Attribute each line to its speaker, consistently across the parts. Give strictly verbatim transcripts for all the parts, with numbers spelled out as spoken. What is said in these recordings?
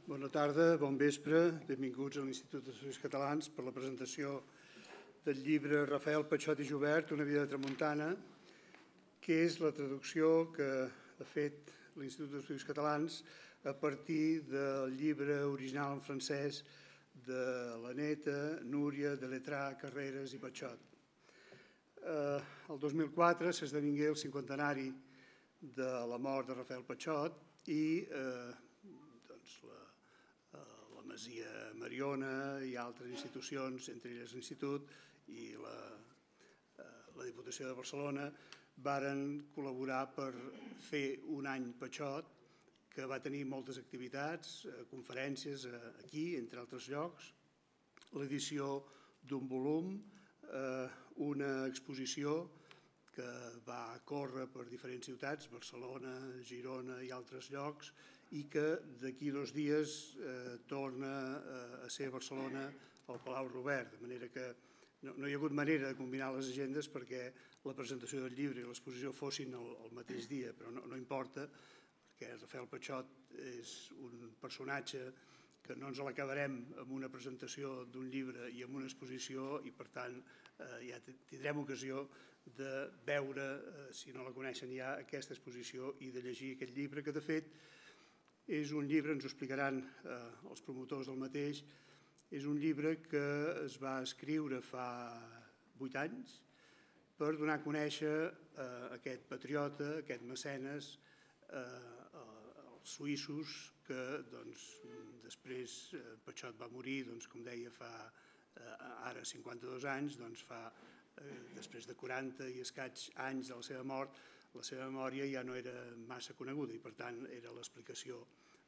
Speaker 1: Bona tarda, bon vespre, benvinguts a l'Institut d'Estudis Catalans per la presentació del llibre Rafael Patxot i Jubert, Una vida de tramuntana, que és la traducció que ha fet l'Institut d'Estudis Catalans a partir del llibre original en francès de la neta Núria de Letrà, Carreras i Patxot. El dos mil quatre s'esdevingué el cinquantenari de la mort de Rafael Patxot i la Masia Mariona i altres institucions, entre elles l'Institut i la Diputació de Barcelona, varen col·laborar per fer un any Patxot, que va tenir moltes activitats, conferències aquí, entre altres llocs, l'edició d'un volum, una exposició que va córrer per diferents ciutats, Barcelona, Girona i altres llocs, i que d'aquí dos dies torna a ser a Barcelona al Palau Robert, de manera que no hi ha hagut manera de combinar les agendes perquè la presentació del llibre i l'exposició fossin el mateix dia, però no importa, perquè Rafael Patxot és un personatge que no ens l'acabarem amb una presentació d'un llibre i amb una exposició i, per tant, ja tindrem ocasió de veure, si no la coneixen ja, aquesta exposició i de llegir aquest llibre, que de fet és un llibre, ens ho explicaran els promotors del mateix, és un llibre que es va escriure fa vuit anys per donar a conèixer aquest patriota, aquest mecenes, als suïssos que després Patxot va morir, com deia, fa ara cinquanta-dos anys, després de quaranta i escaig anys de la seva mort, la seva memòria ja no era massa coneguda i, per tant, era l'explicació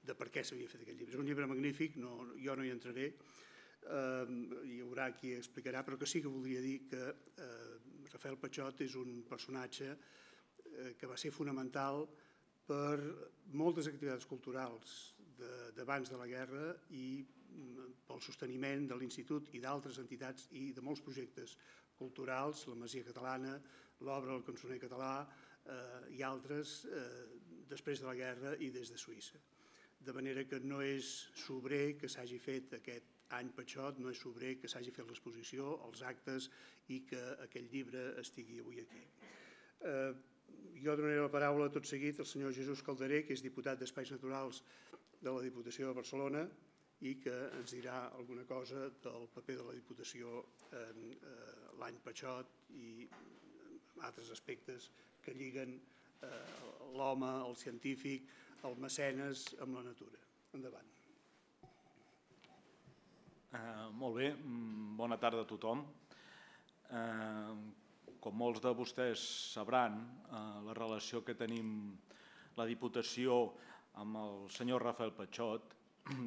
Speaker 1: de per què s'havia fet aquest llibre. És un llibre magnífic, jo no hi entraré, hi haurà qui explicarà, però que sí que voldria dir que Rafael Patxot és un personatge que va ser fonamental per moltes activitats culturals d'abans de la guerra i pel sosteniment de l'Institut i d'altres entitats i de molts projectes culturals, la Masia Catalana, l'obra del Cançoner Català i altres després de la guerra i des de Suïssa. De manera que no és sobrer que s'hagi fet aquest any Patxot, no és sobrer que s'hagi fet l'exposició, els actes i que aquest llibre estigui avui aquí. Jo donaré la paraula tot seguit al senyor Jesús Calderé, que és diputat d'Espais Naturals de la Diputació de Barcelona i que ens dirà alguna cosa del paper de la Diputació en l'any Patxot i altres aspectes que lliguen l'home, el científic, el mecenes amb la natura. Endavant.
Speaker 2: Molt bé, bona tarda a tothom. Com molts de vostès sabran, la relació que tenim la Diputació amb el senyor Rafael Patxot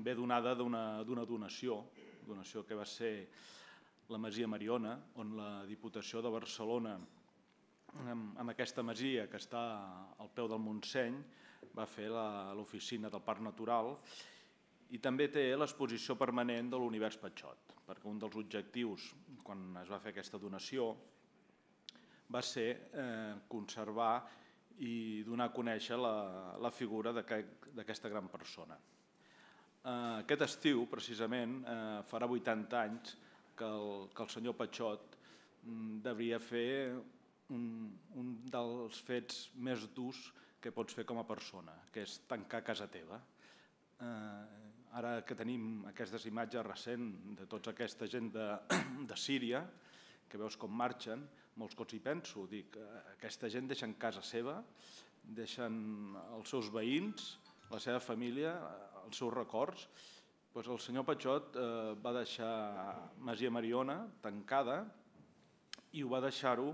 Speaker 2: ve donada d'una donació, donació que va ser la Masia Mariona, on la Diputació de Barcelona, amb aquesta masia que està al peu del Montseny, va fer l'oficina del Parc Natural i també té l'exposició permanent de l'Univers Patxot, perquè un dels objectius, quan es va fer aquesta donació, va ser conservar i donar a conèixer la figura d'aquesta gran persona. Aquest estiu, precisament, farà vuitanta anys que el senyor Patxot devia fer un dels fets més durs que pots fer com a persona, que és tancar casa teva. Ara que tenim aquestes imatges recents de tota aquesta gent de Síria, que veus com marxen, molts cops hi penso, dic, aquesta gent deixen casa seva, deixen els seus veïns, la seva família, els seus records. El senyor Patxot va deixar Masia Mariona tancada i ho va deixar-ho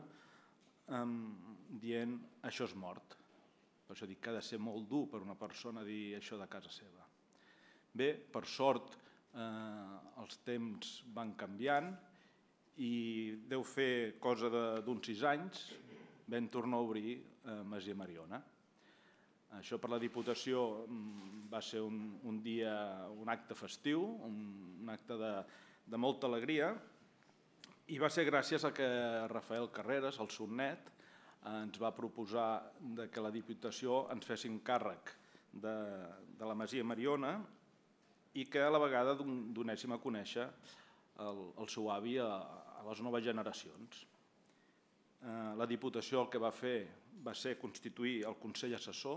Speaker 2: dient això és mort. Per això dic que ha de ser molt dur per una persona dir això de casa seva. Bé, per sort els temps van canviant i deu fer cosa d'uns sis anys vam tornar a obrir Masia Mariona. Això per la Diputació va ser un dia, un acte festiu, un acte de molta alegria i va ser gràcies a que Rafael Carreras, el Sornet, ens va proposar que la Diputació ens fessin càrrec de la Masia Mariona i que a la vegada donéssim a conèixer el seu avi a les noves generacions. La Diputació el que va fer va ser constituir el Consell Assessor,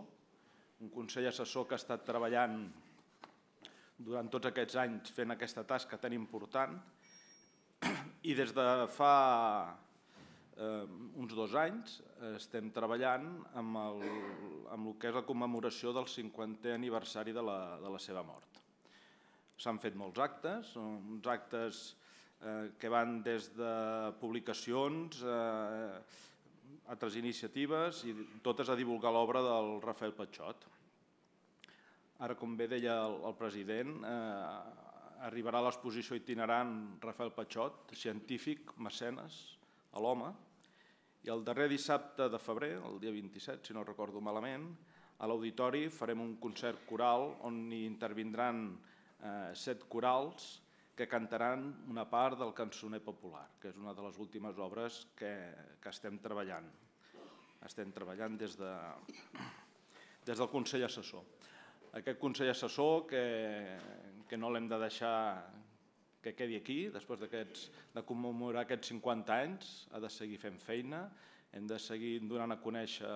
Speaker 2: un Consell Assessor que ha estat treballant durant tots aquests anys fent aquesta tasca tan important, i des de fa uns dos anys estem treballant amb el que és la commemoració del cinquantè aniversari de la seva mort. S'han fet molts actes, uns actes que van des de publicacions, altres iniciatives i totes a divulgar l'obra del Rafael Patxot. Ara, com bé deia el president, arribarà a l'exposició itinerant Rafael Patxot, científic, mecenes, a l'home, i el darrer dissabte de febrer, el dia vint-i-set, si no recordo malament, a l'auditori farem un concert coral on hi intervindran set corals que cantaran una part del cançoner popular, que és una de les últimes obres que estem treballant. Estem treballant des del Consell Assessor. Aquest Consell Assessor que no l'hem de deixar que quedi aquí, després de commemorar aquests cinquanta anys, ha de seguir fent feina, hem de seguir donant a conèixer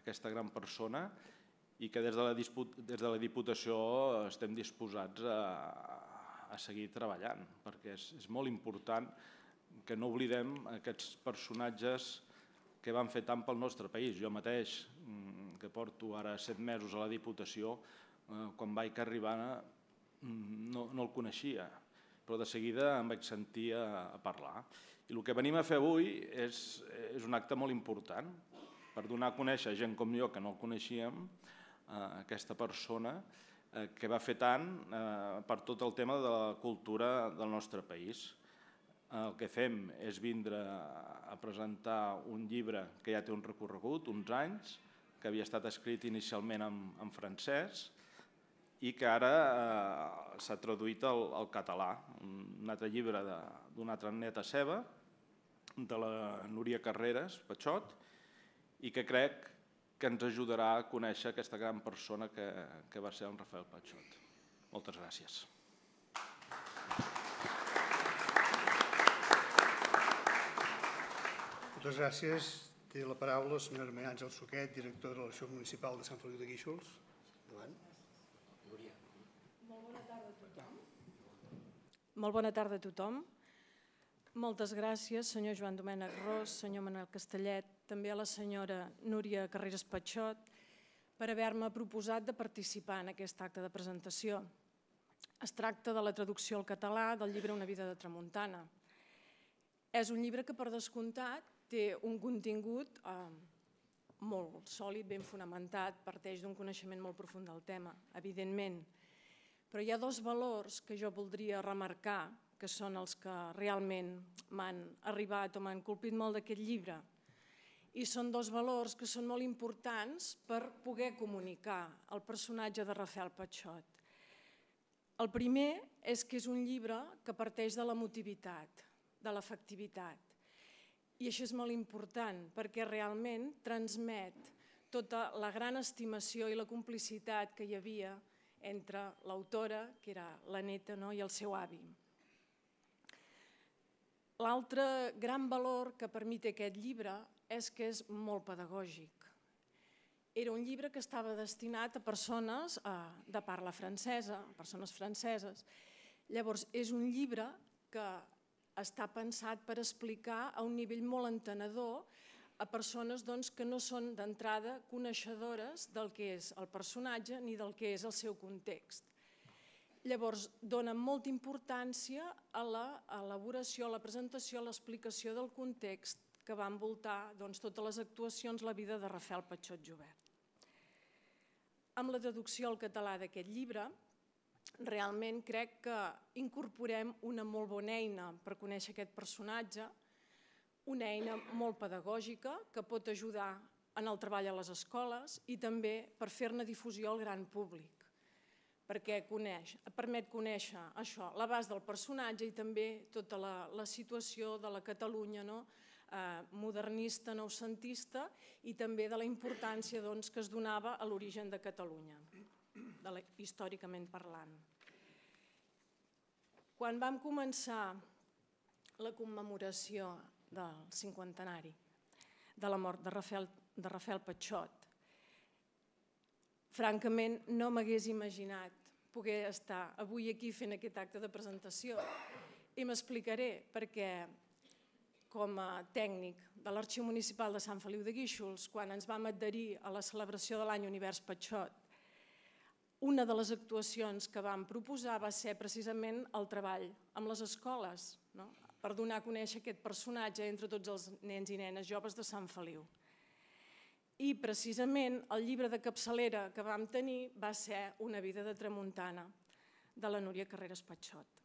Speaker 2: aquesta gran persona i que des de la Diputació estem disposats a seguir treballant, perquè és molt important que no oblidem aquests personatges que van fer tant pel nostre país. Jo mateix, que porto ara set mesos a la Diputació, quan vaig arribar no el coneixia, però de seguida em vaig sentir a parlar. I el que venim a fer avui és un acte molt important per donar a conèixer gent com jo que no el coneixíem, aquesta persona que va fer tant per tot el tema de la cultura del nostre país. El que fem és vindre a presentar un llibre que ja té un recorregut, uns anys, que havia estat escrit inicialment en francès i que ara s'ha traduït al català, un altre llibre d'una altra neta seva, de la Núria Carreras Patxot, i que crec que ens ajudarà a conèixer aquesta gran persona que va ser en Rafael Patxot. Moltes gràcies.
Speaker 1: Moltes gràcies. Té la paraula la senyora Maria Àngels Suquet, directora de l'Arxiu Municipal de Sant Feliu de Guíxols. Endavant.
Speaker 3: Molt bona tarda a tothom. Molt bona tarda a tothom. Moltes gràcies, senyor Joan Domènec Ros, senyor Manel Castellet, també a la senyora Núria Carreras Patxot, per haver-me proposat de participar en aquest acte de presentació. Es tracta de la traducció al català del llibre Una vida de tramuntana. És un llibre que, per descomptat, té un contingut molt sòlid, ben fonamentat, parteix d'un coneixement molt profund del tema, evidentment. Però hi ha dos valors que jo voldria remarcar, que són els que realment m'han arribat o m'han colpit molt d'aquest llibre. I són dos valors que són molt importants per poder comunicar el personatge de Rafael Patxot. El primer és que és un llibre que parteix de l'emotivitat, de l'afectivitat. I això és molt important perquè realment transmet tota la gran estimació i la complicitat que hi havia entre l'autora, que era la neta, i el seu avi. L'altre gran valor que per mi té aquest llibre és que és molt pedagògic. Era un llibre que estava destinat a persones de parla francesa, persones franceses. Llavors, és un llibre que està pensat per explicar a un nivell molt entenedor a persones que no són d'entrada coneixedores del que és el personatge ni del que és el seu context. Llavors, dona molta importància a l'elaboració, a la presentació, a l'explicació del context que va envoltar totes les actuacions, la vida de Rafael Patxot Jubert. Amb la traducció al català d'aquest llibre, realment crec que incorporem una molt bona eina per conèixer aquest personatge, una eina molt pedagògica que pot ajudar en el treball a les escoles i també per fer-ne difusió al gran públic, perquè permet conèixer això, l'abast del personatge i també tota la situació de la Catalunya modernista, noucentista i també de la importància que es donava a l'origen de Catalunya, històricament parlant. Quan vam començar la commemoració del cinquantenari de la mort de Rafael, de Rafael Patxot, francament no m'hagués imaginat poder estar avui aquí fent aquest acte de presentació i m'explicaré perquè com a tècnic de l'Arxiu Municipal de Sant Feliu de Guíxols, quan ens vam adherir a la celebració de l'any Univers Patxot, una de les actuacions que vam proposar va ser precisament el treball amb les escoles, no? Per donar a conèixer aquest personatge entre tots els nens i nenes joves de Sant Feliu. I precisament el llibre de capçalera que vam tenir va ser Una vida de tramuntana, de la Núria Carreras Patxot.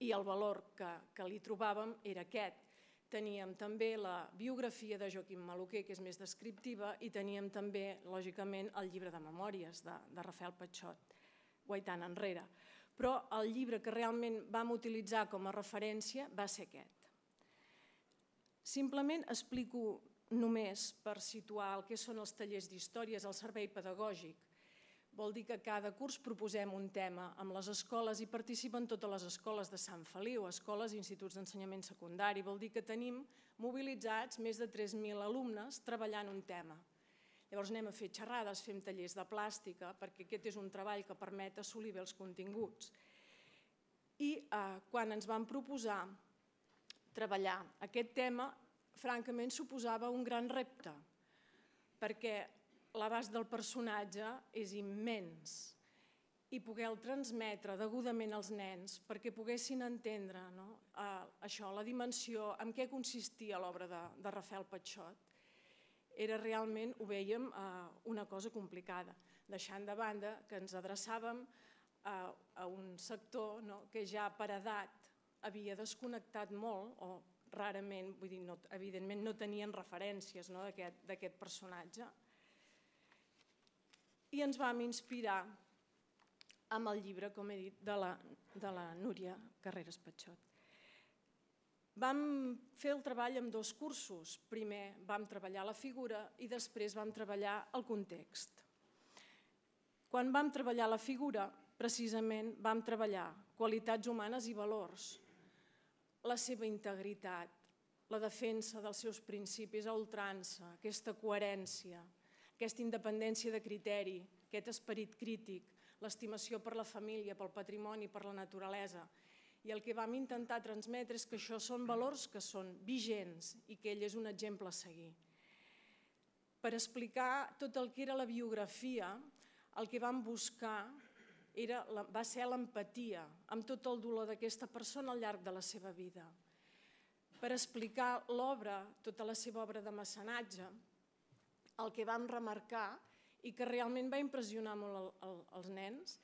Speaker 3: I el valor que, que li trobàvem era aquest. Teníem també la biografia de Joaquim Maluquer, que és més descriptiva, i teníem també, lògicament, el llibre de memòries de, de Rafael Patxot, guaitant enrere. Però el llibre que realment vam utilitzar com a referència va ser aquest. Simplement explico només per situar el que són els tallers d'històries al servei pedagògic. Vol dir que cada curs proposem un tema amb les escoles i participen totes les escoles de Sant Feliu, escoles i instituts d'ensenyament secundari. Vol dir que tenim mobilitzats més de tres mil alumnes treballant un tema. Llavors anem a fer xerrades, fem tallers de plàstica, perquè aquest és un treball que permet assolir bé els continguts. I eh, quan ens vam proposar treballar aquest tema, francament suposava un gran repte, perquè l'abast del personatge és immens i poder-el transmetre degudament als nens perquè poguessin entendre no, eh, això, la dimensió, en què consistia l'obra de, de Rafael Patxot, era realment, ho vèiem, eh, una cosa complicada, deixant de banda que ens adreçàvem a, a un sector no, que ja per edat havia desconnectat molt, o rarament, vull dir, no, evidentment no tenien referències no, d'aquest personatge. I ens vam inspirar amb el llibre, com he dit, de la, de la Núria Carreras Patxot. Vam fer el treball amb dos cursos. Primer vam treballar la figura i després vam treballar el context. Quan vam treballar la figura, precisament vam treballar qualitats humanes i valors, la seva integritat, la defensa dels seus principis a ultrança, aquesta coherència, aquesta independència de criteri, aquest esperit crític, l'estimació per la família, pel patrimoni, per la naturalesa. I el que vam intentar transmetre és que això són valors que són vigents i que ell és un exemple a seguir. Per explicar tot el que era la biografia, el que vam buscar era, va ser l'empatia amb tot el dolor d'aquesta persona al llarg de la seva vida. Per explicar l'obra, tota la seva obra de mecenatge, el que vam remarcar i que realment va impressionar molt el, el, els nens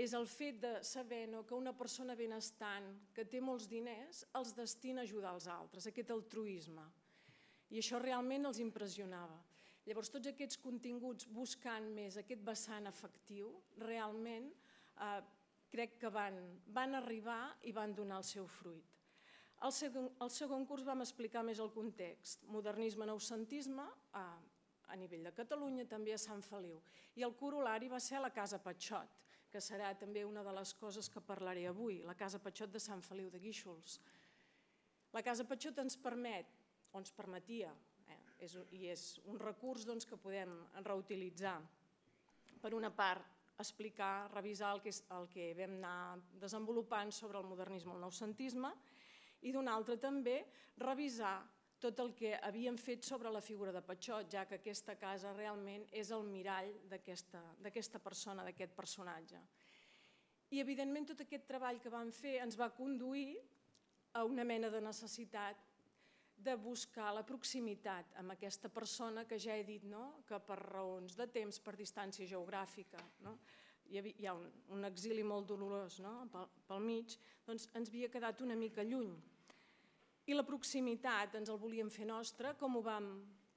Speaker 3: és el fet de saber no, que una persona benestant que té molts diners els destina a ajudar els altres, aquest altruisme. I això realment els impressionava. Llavors, tots aquests continguts buscant més aquest vessant afectiu, realment eh, crec que van, van arribar i van donar el seu fruit. Al segon, al segon curs vam explicar més el context, modernisme, noucentisme, eh, a nivell de Catalunya, també a Sant Feliu. I el corolari va ser la Casa Patxot, que serà també una de les coses que parlaré avui, la Casa Patxot de Sant Feliu de Guíxols. La Casa Patxot ens permet, o ens permetia, eh, és, i és un recurs doncs, que podem reutilitzar, per una part, explicar, revisar el que, el que vam anar desenvolupant sobre el modernisme i el noucentisme, i d'una altra també revisar tot el que havíem fet sobre la figura de Patxot, ja que aquesta casa realment és el mirall d'aquesta persona, d'aquest personatge. I, evidentment, tot aquest treball que vam fer ens va conduir a una mena de necessitat de buscar la proximitat amb aquesta persona que ja he dit no? que per raons de temps, per distància geogràfica, no? hi ha un, un exili molt dolorós no? pel, pel mig, doncs ens havia quedat una mica lluny. I la proximitat ens el volíem fer nostra, com, ho vam,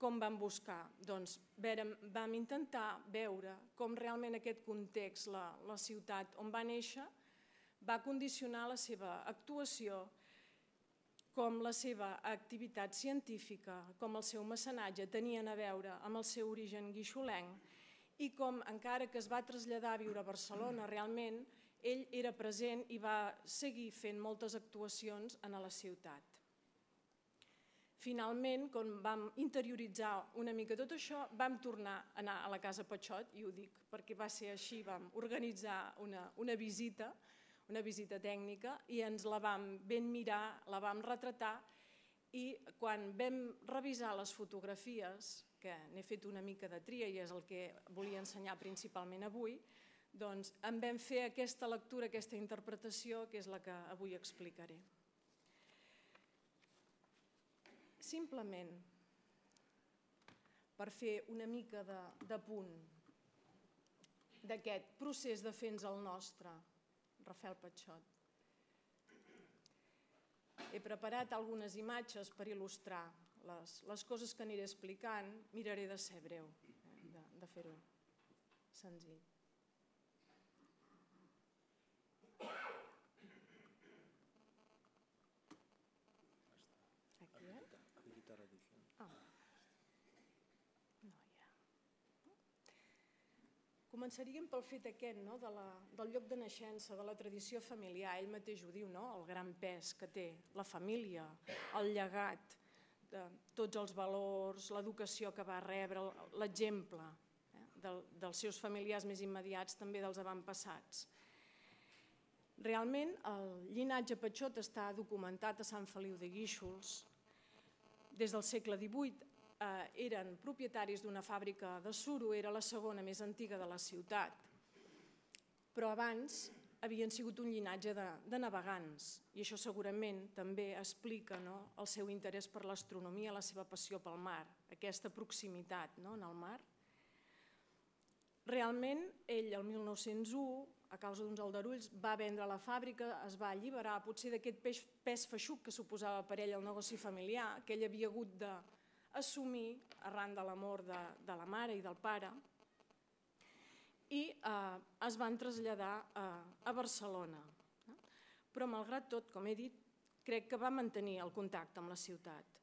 Speaker 3: com vam buscar? Doncs vèrem, vam intentar veure com realment aquest context, la, la ciutat on va néixer, va condicionar la seva actuació, com la seva activitat científica, com el seu mecenatge tenien a veure amb el seu origen guixolenc i com, encara que es va traslladar a viure a Barcelona, realment ell era present i va seguir fent moltes actuacions a la ciutat. Finalment, quan vam interioritzar una mica tot això, vam tornar a anar a la Casa Patxot, i ho dic perquè va ser així, vam organitzar una, una visita, una visita tècnica, i ens la vam ben mirar, la vam retratar, i quan vam revisar les fotografies, que n'he fet una mica de tria i és el que volia ensenyar principalment avui, doncs en vam fer aquesta lectura, aquesta interpretació, que és la que avui explicaré. Simplement, per fer una mica de, de punt d'aquest procés de fer-nos el nostre, Rafael Patxot. He preparat algunes imatges per il·lustrar les, les coses que aniré explicant. Miraré de ser breu, de, de fer-ho senzill. Aquí, eh? Ah. No hi ha. Començaríem pel fet aquest, no? de la, del lloc de naixença, de la tradició familiar. Ell mateix ho diu, no? El gran pes que té la família, el llegat, de tots els valors, l'educació que va rebre, l'exemple eh? del, dels seus familiars més immediats, també dels avantpassats. Realment, el llinatge Patxot està documentat a Sant Feliu de Guíxols. Des del segle divuit eh, eren propietaris d'una fàbrica de suro, era la segona més antiga de la ciutat. Però abans havien sigut un llinatge de, de navegants, i això segurament també explica, no? El seu interès per l'astronomia, la seva passió pel mar, aquesta proximitat, no? En el mar. Realment, ell el mil nou-cents u, a causa d'uns aldarulls, va vendre la fàbrica, es va alliberar potser d'aquest pes, pes feixuc que suposava per ell el negoci familiar, que ell havia hagut d'assumir arran de la mort de, de la mare i del pare, i eh, es van traslladar a, a Barcelona. Però, malgrat tot, com he dit, crec que va mantenir el contacte amb la ciutat.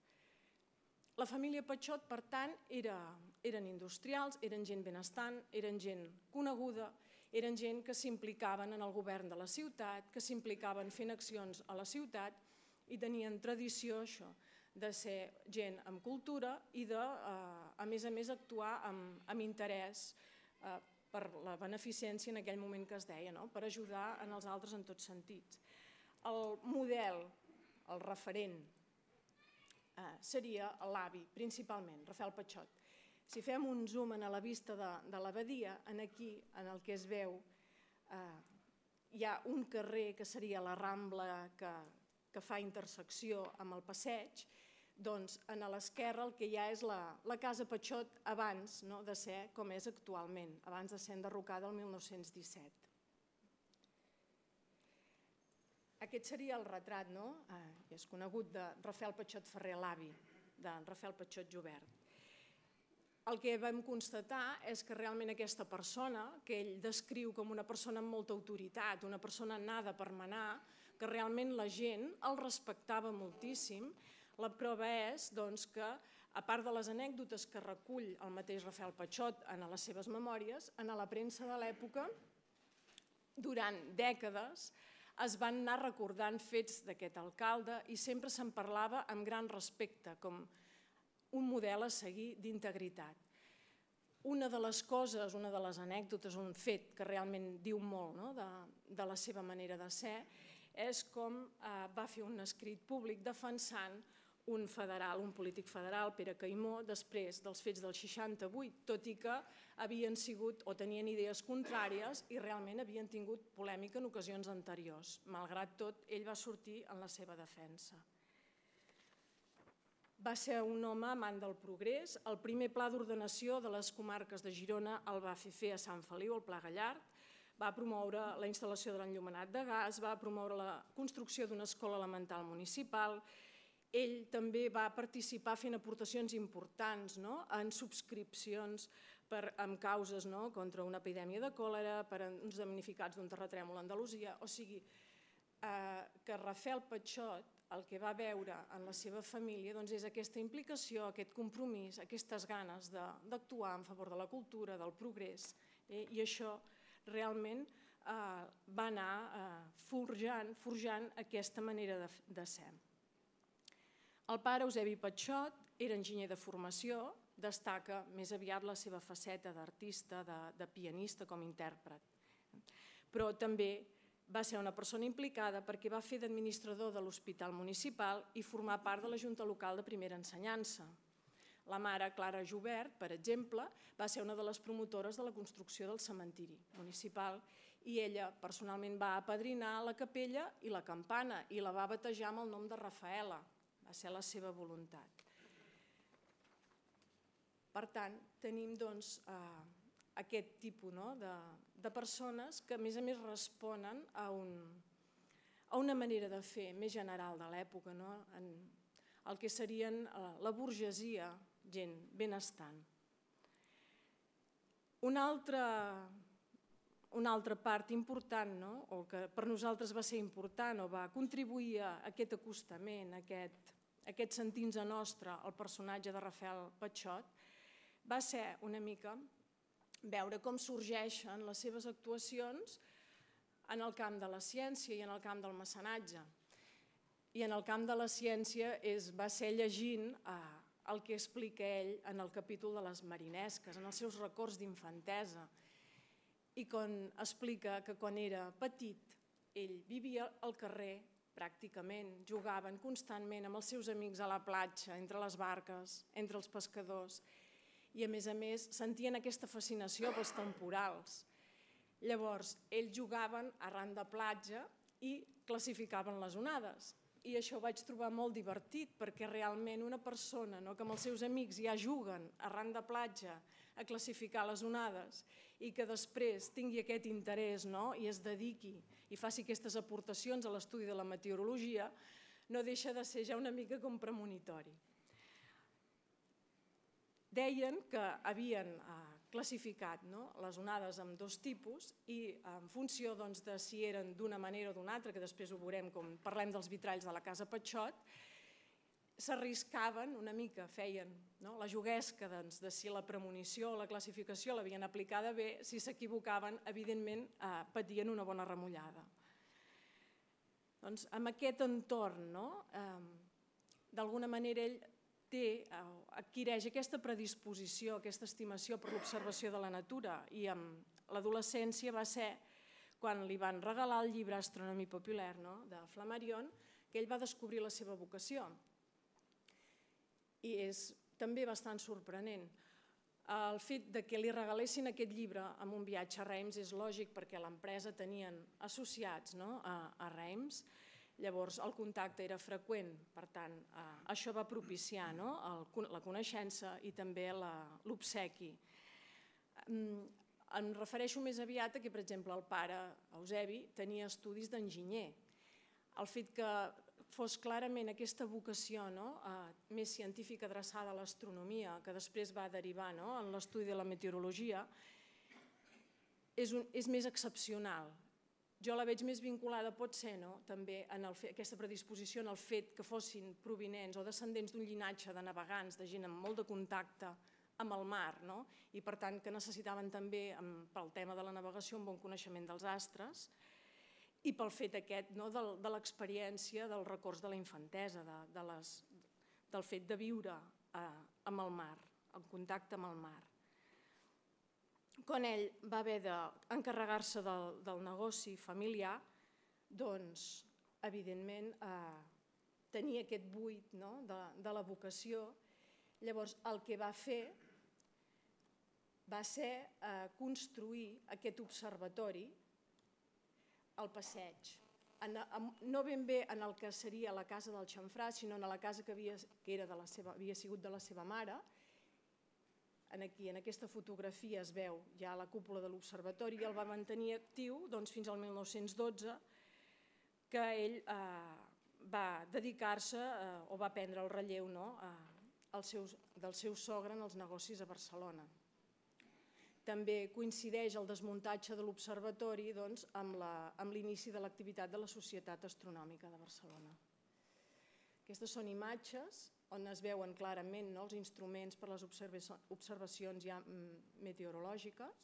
Speaker 3: La família Patxot, per tant, era, eren industrials, eren gent benestant, eren gent coneguda, eren gent que s'implicaven en el govern de la ciutat, que s'implicaven fent accions a la ciutat i tenien tradició, això, de ser gent amb cultura i de, eh, a més a més, actuar amb, amb interès eh, per la beneficència en aquell moment que es deia, no? Per ajudar en els altres en tots sentits. El model, el referent, eh, seria l'avi, principalment, Rafael Patxot. Si fem un zoom a la vista de, de l'abadia, aquí, en el que es veu, eh, hi ha un carrer que seria la Rambla que, que fa intersecció amb el passeig, doncs a l'esquerra el que hi ha és la, la Casa Patxot abans, no, de ser com és actualment, abans de ser enderrocada el mil nou-cents disset. Aquest seria el retrat, no? Eh, és conegut, de Rafael Patxot Ferrer, l'avi de Rafael Patxot Jubert. El que vam constatar és que realment aquesta persona, que ell descriu com una persona amb molta autoritat, una persona nada per manar, que realment la gent el respectava moltíssim. La prova és doncs, que, a part de les anècdotes que recull el mateix Rafael Patxot en les seves memòries, en la premsa de l'època, durant dècades, es van anar recordant fets d'aquest alcalde i sempre se'n parlava amb gran respecte, com un model a seguir d'integritat. Una de les coses, una de les anècdotes, un fet que realment diu molt, no? de, de la seva manera de ser, és com eh, va fer un escrit públic defensant un federal, un polític federal, Pere Caimó, després dels fets del seixanta-vuit, tot i que havien sigut o tenien idees contràries i realment havien tingut polèmica en ocasions anteriors. Malgrat tot, ell va sortir en la seva defensa. Va ser un home amant del progrés. El primer pla d'ordenació de les comarques de Girona el va fer fer a Sant Feliu, el Pla Gallard. Va promoure la instal·lació de l'enllumenat de gas, va promoure la construcció d'una escola elemental municipal. Ell també va participar fent aportacions importants, no? En subscripcions per, amb causes, no? Contra una epidèmia de còlera, per uns damnificats d'un terratrèmol a Andalusia. O sigui, eh, que Rafael Patxot el que va veure en la seva família doncs, és aquesta implicació, aquest compromís, aquestes ganes d'actuar en favor de la cultura, del progrés, eh? I això realment va anar forjant aquesta manera de ser. El pare, Eusebi Patxot, era enginyer de formació, destaca més aviat la seva faceta d'artista, de pianista com a intèrpret. Però també va ser una persona implicada perquè va fer d'administrador de l'Hospital Municipal i formar part de la Junta Local de Primera Ensenyança. La mare, Clara Jubert, per exemple, va ser una de les promotores de la construcció del cementiri municipal i ella personalment va apadrinar la capella i la campana i la va batejar amb el nom de Rafaela. Va ser la seva voluntat. Per tant, tenim aquest tipus de persones que a més a més responen a una manera de fer més general de l'època, el que serien la burgesia, gent benestant. Una altra part important, o que per nosaltres va ser important o va contribuir a aquest acostament, a aquest sentir-nos nostre al personatge de Rafael Patxot, va ser una mica veure com sorgeixen les seves actuacions en el camp de la ciència i en el camp del mecenatge. I en el camp de la ciència va ser llegint el que explica ell en el capítol de les marinesques, en els seus records d'infantesa, i quan explica que quan era petit ell vivia al carrer pràcticament, jugaven constantment amb els seus amics a la platja, entre les barques, entre els pescadors, i a més a més sentien aquesta fascinació pels temporals. Llavors, ells jugaven arran de platja i classificaven les onades. I això ho vaig trobar molt divertit, perquè realment una persona que amb els seus amics ja juguen arran de platja a classificar les onades i que després tingui aquest interès i es dediqui i faci aquestes aportacions a l'estudi de la meteorologia, no deixa de ser ja una mica com premonitori. Deien que havien classificat les onades en dos tipus i en funció de si eren d'una manera o d'una altra, que després ho veurem quan parlem dels vitralls de la Casa Patxot, s'arriscaven una mica, feien la juguesca de si la premonició o la classificació l'havien aplicada bé, si s'equivocaven, evidentment patien una bona remullada. Amb aquest entorn, d'alguna manera ell adquireix aquesta predisposició, aquesta estimació per l'observació de la natura, i amb l'adolescència va ser quan li van regalar el llibre Astronomie populaire de Flammarion que ell va descobrir la seva vocació. I és també bastant sorprenent. El fet que li regalessin aquest llibre en un viatge a Reims és lògic perquè l'empresa tenien associats a Reims. Llavors el contacte era freqüent, per tant això va propiciar la coneixença i també l'obsequi. Em refereixo més aviat a que, per exemple, el pare Eusebi tenia estudis d'enginyer. El fet que fos clarament aquesta vocació més científica adreçada a l'astronomia, que després va derivar en l'estudi de la meteorologia, és més excepcional. Jo la veig més vinculada, pot ser, també en aquesta predisposició en el fet que fossin provinents o descendents d'un llinatge de navegants, de gent amb molt de contacte amb el mar, i per tant que necessitaven també, pel tema de la navegació, un bon coneixement dels astres, i pel fet aquest de l'experiència dels records de la infantesa, del fet de viure amb el mar, en contacte amb el mar. Quan ell va haver d'encarregar-se del negoci familiar, doncs, evidentment, tenia aquest buit de la vocació. Llavors, el que va fer va ser construir aquest observatori al passeig. No ben bé en el que seria la casa del xamfrà, sinó en la casa que havia sigut de la seva mare. Aquí, en aquesta fotografia, es veu ja la cúpula de l'observatori i el va mantenir actiu fins al mil nou-cents dotze, que ell va dedicar-se o va prendre el relleu del seu sogre en els negocis a Barcelona. També coincideix el desmuntatge de l'observatori amb l'inici de l'activitat de la Societat Astronòmica de Barcelona. Aquestes són imatges on es veuen clarament els instruments per a les observacions ja meteorològiques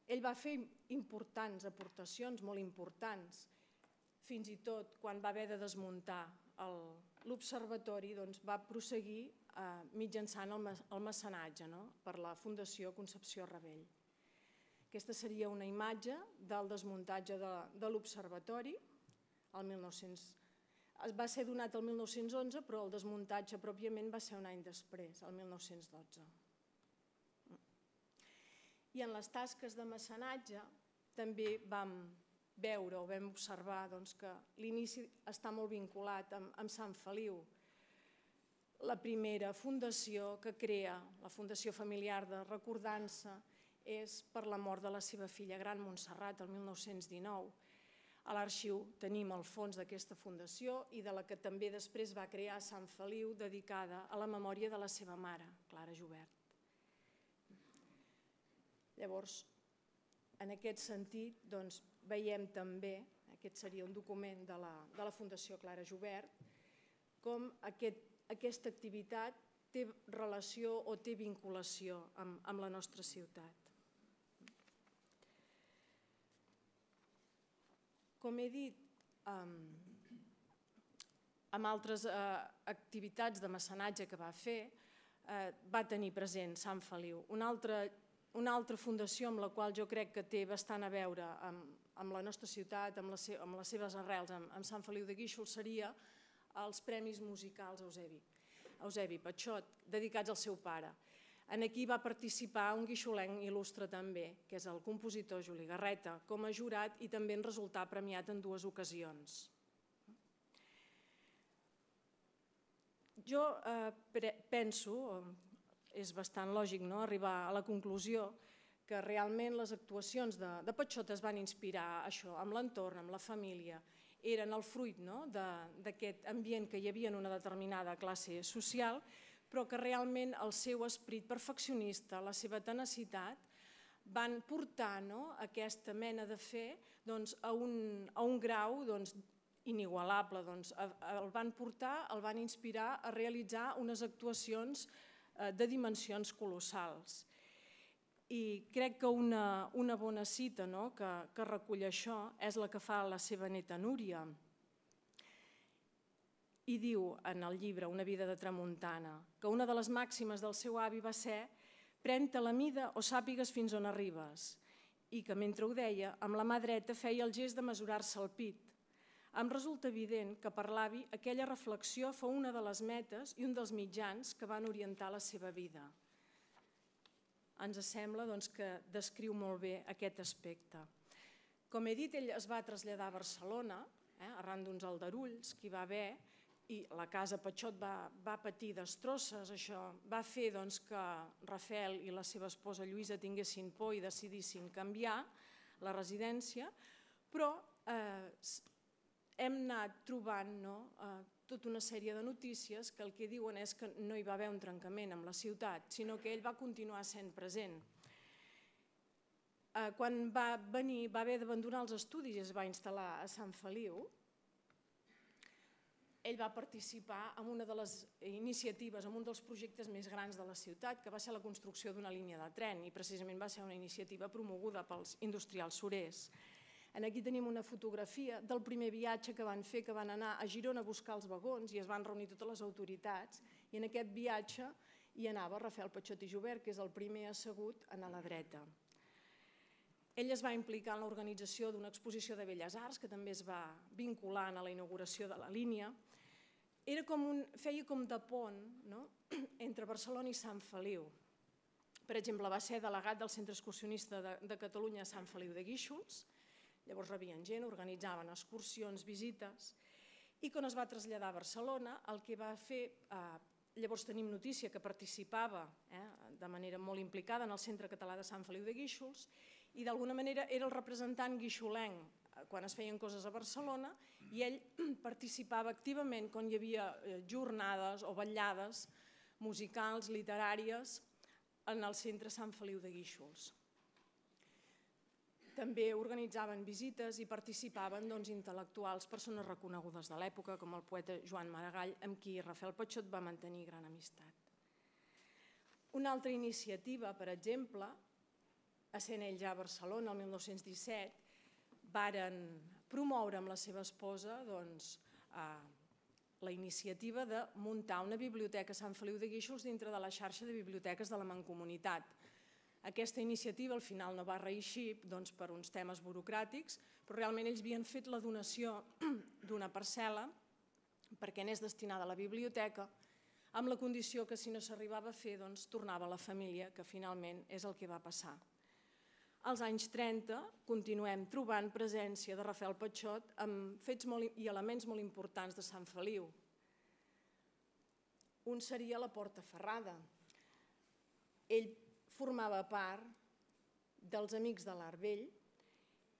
Speaker 3: Ell va fer importants aportacions, molt importants, fins i tot quan va haver de desmuntar l'observatori, va prosseguir mitjançant el mecenatge per la Fundació Concepció Ravell. Aquesta seria una imatge del desmuntatge de l'observatori. Va ser donat el mil nou-cents onze, però el desmuntatge pròpiament va ser un any després, el mil nou-cents dotze. I en les tasques de mecenatge també vam veure o vam observar que l'inici està molt vinculat amb Sant Feliu. La primera fundació que crea, la Fundació Familiar de Recordança, és per la mort de la seva filla gran, Montserrat, el mil nou-cents dinou. A l'arxiu tenim el fons d'aquesta fundació i de la que també després va crear Sant Feliu, dedicada a la memòria de la seva mare, Clara Jubert. Llavors, en aquest sentit, veiem també, aquest seria un document de la Fundació Clara Jubert, com aquesta activitat té relació o té vinculació amb la nostra ciutat. Com he dit, amb altres activitats de mecenatge que va fer, va tenir present Sant Feliu. Una altra fundació amb la qual jo crec que té bastant a veure amb la nostra ciutat, amb les seves arrels, amb Sant Feliu de Guíxols, seria els Premis Musicals Eusebi Patxot, dedicats al seu pare. Aquí va participar un guixolenc il·lustre també, que és el compositor Juli Garreta, com a jurat i també en resultar premiat en dues ocasions. Jo penso, és bastant lògic arribar a la conclusió, que realment les actuacions de Patxot es van inspirar això, amb l'entorn, amb la família, eren el fruit d'aquest ambient que hi havia en una determinada classe social, però que realment el seu esperit perfeccionista, la seva tenacitat, van portar aquesta mena de fer a un grau inigualable. El van portar, el van inspirar a realitzar unes actuacions de dimensions colossals. I crec que una bona cita que recull això és la que fa la seva neta Núria. I diu en el llibre Una vida de tramuntana que una de les màximes del seu avi va ser «Pren-te la mida o sàpigues fins on arribes», i que mentre ho deia, amb la mà dreta feia el gest de mesurar-se el pit. Em resulta evident que per l'avi aquella reflexió fou una de les metes i un dels mitjans que van orientar la seva vida. Ens sembla que descriu molt bé aquest aspecte. Com he dit, ell es va traslladar a Barcelona, arran d'uns aldarulls que hi va haver, i la casa Patxot va patir destrosses. Això va fer que Rafael i la seva esposa Lluïsa tinguessin por i decidissin canviar la residència, però hem anat trobant tota una sèrie de notícies que el que diuen és que no hi va haver un trencament amb la ciutat, sinó que ell va continuar sent present. Quan va venir, va haver d'abandonar els estudis i es va instal·lar a Sant Feliu. Ell va participar en una de les iniciatives, en un dels projectes més grans de la ciutat, que va ser la construcció d'una línia de tren, i precisament va ser una iniciativa promoguda pels industrials surers. Aquí tenim una fotografia del primer viatge que van fer, que van anar a Girona a buscar els vagons i es van reunir totes les autoritats, i en aquest viatge hi anava Rafael Patxot i Jubert, que és el primer assegut a la dreta. Ell es va implicar en l'organització d'una exposició de Belles Arts, que també es va vincular a la inauguració de la línia. Feia com de pont entre Barcelona i Sant Feliu. Per exemple, va ser delegat del Centre Excursionista de Catalunya a Sant Feliu de Guíxols, llavors rebien gent, organitzaven excursions, visites, i quan es va traslladar a Barcelona, el que va fer, llavors tenim notícia que participava de manera molt implicada en el Centre Català de Sant Feliu de Guíxols, i d'alguna manera era el representant guixolenc quan es feien coses a Barcelona, i ell participava activament quan hi havia jornades o vetllades musicals, literàries, en el Centre Sant Feliu de Guíxols. També organitzaven visites i participaven intel·lectuals, persones reconegudes de l'època, com el poeta Joan Maragall, amb qui Rafael Patxot va mantenir gran amistat. Una altra iniciativa, per exemple, essent ell ja a Barcelona el mil nou-cents disset, varen promoure amb la seva esposa la iniciativa de muntar una biblioteca a Sant Feliu de Guíxols dintre de la xarxa de biblioteques de la Mancomunitat. Aquesta iniciativa al final no va reeixir per uns temes burocràtics, però realment ells havien fet la donació d'una parcel·la perquè anés destinada a la biblioteca, amb la condició que si no s'arribava a fer, tornava a la família, que finalment és el que va passar. Als anys trenta continuem trobant presència de Rafael Patxot amb fets i elements molt importants de Sant Feliu. Un seria la Porta Ferrada. Ell formava part dels Amics de l'Art Vell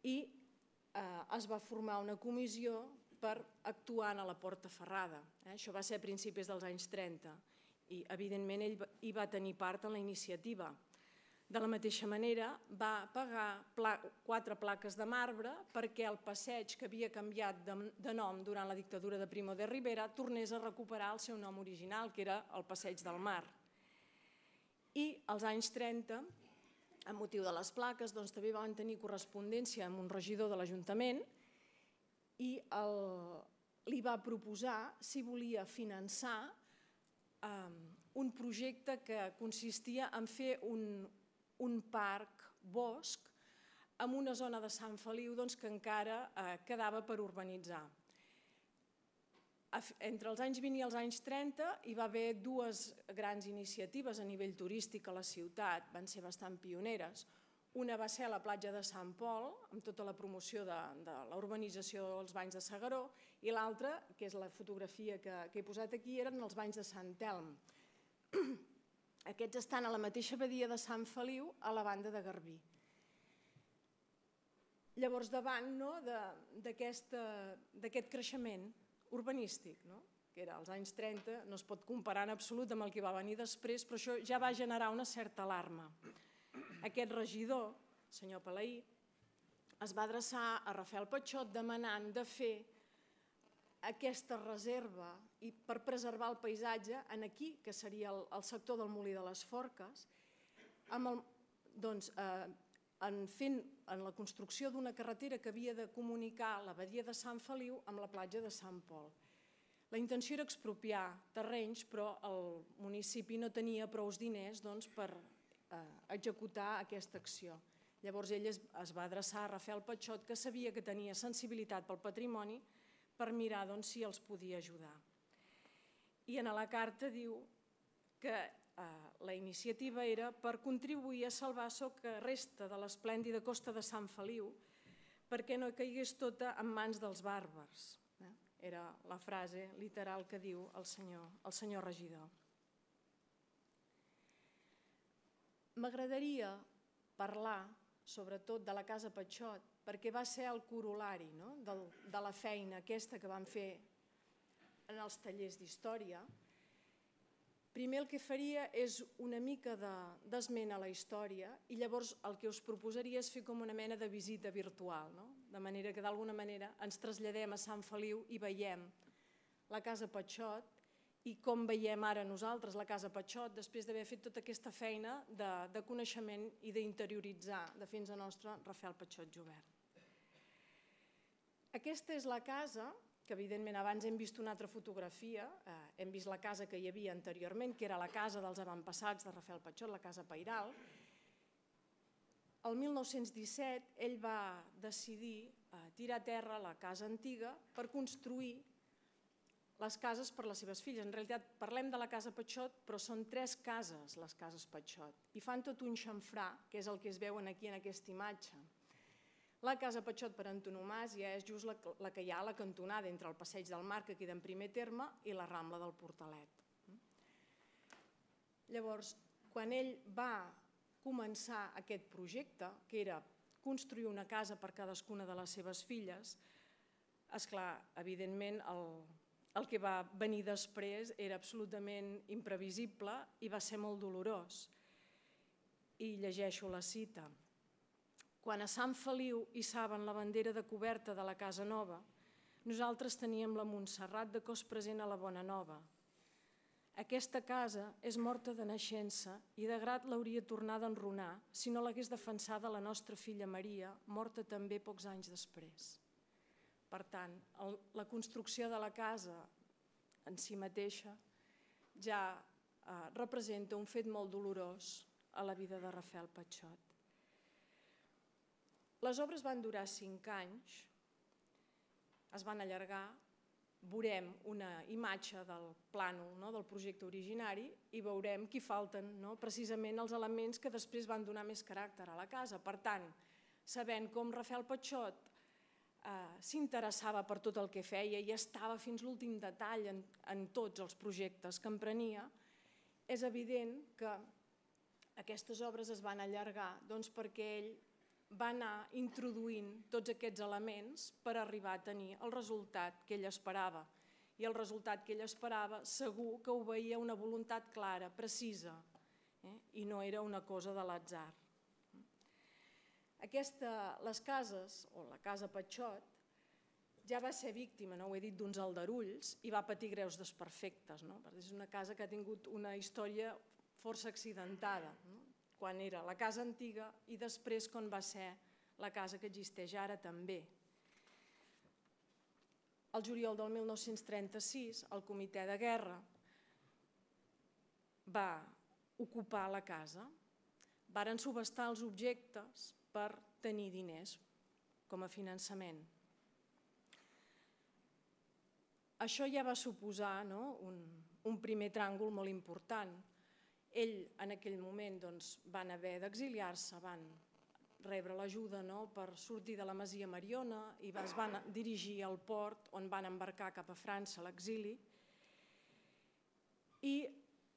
Speaker 3: i es va formar una comissió per actuar a la Porta Ferrada. Això va ser a principis dels anys trenta i, evidentment, ell hi va tenir part en la iniciativa. De la mateixa manera, va pagar quatre plaques de marbre perquè el passeig que havia canviat de nom durant la dictadura de Primo de Rivera tornés a recuperar el seu nom original, que era el Passeig del Mar. I als anys trenta, amb motiu de les plaques, també van tenir correspondència amb un regidor de l'Ajuntament i li va proposar si volia finançar un projecte que consistia en fer un parc bosc en una zona de Sant Feliu que encara quedava per urbanitzar. Entre els anys vint i els anys trenta hi va haver dues grans iniciatives a nivell turístic a la ciutat, van ser bastant pioneres. Una va ser a la platja de Sant Pol, amb tota la promoció de la urbanització dels banys de S'Agaró, i l'altra, que és la fotografia que he posat aquí, eren els banys de Sant Telm. Aquests estan a la mateixa badia de Sant Feliu, a la banda de Garbí. Llavors, davant d'aquest creixement urbanístic, que era als anys trenta, no es pot comparar en absolut amb el que va venir després, però això ja va generar una certa alarma. Aquest regidor, el senyor Palaí, es va adreçar a Rafael Patxot demanant de fer aquesta reserva per preservar el paisatge aquí, que seria el sector del Molí de les Forques, en la construcció d'una carretera que havia de comunicar la badia de Sant Feliu amb la platja de Sant Pol. La intenció era expropiar terrenys, però el municipi no tenia prou diners per executar aquesta acció. Llavors ell es va adreçar a Rafael Patxot, que sabia que tenia sensibilitat pel patrimoni, per mirar si els podia ajudar. I en la carta diu que la iniciativa era per contribuir a salvar el que resta de l'esplèndida costa de Sant Feliu perquè no caigués tota en mans dels bàrbars. Era la frase literal que diu el senyor regidor. M'agradaria parlar, sobretot, de la Casa Patxot, perquè va ser el corol·lari de la feina aquesta que vam fer en els tallers d'història. Primer el que faria és una mica d'esment a la història i llavors el que us proposaria és fer com una mena de visita virtual, de manera que d'alguna manera ens traslladem a Sant Feliu i veiem la Casa Patxot i com veiem ara nosaltres la Casa Patxot després d'haver fet tota aquesta feina de coneixement i d'interioritzar, de fins a nostre Rafael Patxot Jubert. Aquesta és la casa, que evidentment abans hem vist una altra fotografia, hem vist la casa que hi havia anteriorment, que era la casa dels avantpassats de Rafael Patxot, la Casa Pairal. El mil nou-cents disset ell va decidir tirar a terra la casa antiga per construir les cases per les seves filles. En realitat parlem de la Casa Patxot, però són tres cases les cases Patxot i fan tot un xamfrà, que és el que es veuen aquí en aquesta imatge. La Casa Patxot per antonomàsia és just la que hi ha a la cantonada entre el Passeig del Mar, que queda en primer terme, i la Rambla del Portalet. Llavors, quan ell va començar aquest projecte, que era construir una casa per cadascuna de les seves filles, esclar, evidentment, el que va venir després era absolutament imprevisible i va ser molt dolorós. I llegeixo la cita. Quan a Sant Feliu hissaven la bandera de coberta de la casa nova, nosaltres teníem la Montserrat de cos present a la Bona Nova. Aquesta casa és morta de naixença i de grat l'hauria tornada a enrunar si no l'hagués defensada la nostra filla Maria, morta també pocs anys després. Per tant, la construcció de la casa en si mateixa ja representa un fet molt dolorós a la vida de Rafael Patxot. Les obres van durar cinc anys, es van allargar, veurem una imatge del plànol, del projecte originari, i veurem que hi falten precisament els elements que després van donar més caràcter a la casa. Per tant, sabent com Rafael Patxot s'interessava per tot el que feia i estava fins l'últim detall en tots els projectes que emprenia, és evident que aquestes obres es van allargar perquè ell va anar introduint tots aquests elements per arribar a tenir el resultat que ell esperava. I el resultat que ell esperava segur que obeïa una voluntat clara, precisa, i no era una cosa de l'atzar. Les cases, o la casa Patxot, ja va ser víctima, no ho he dit, d'uns aldarulls i va patir greus desperfectes. És una casa que ha tingut una història força accidentada, quan era la casa antiga i després quan va ser la casa que existeix ara també. El juliol del mil nou-cents trenta-sis, el comitè de guerra va ocupar la casa, varen subhastar els objectes per tenir diners com a finançament. Això ja va suposar un primer tràngol molt important. Ell en aquell moment van haver d'exiliar-se, van rebre l'ajuda per sortir de la Masia Mariona i es van dirigir al port on van embarcar cap a França a l'exili. I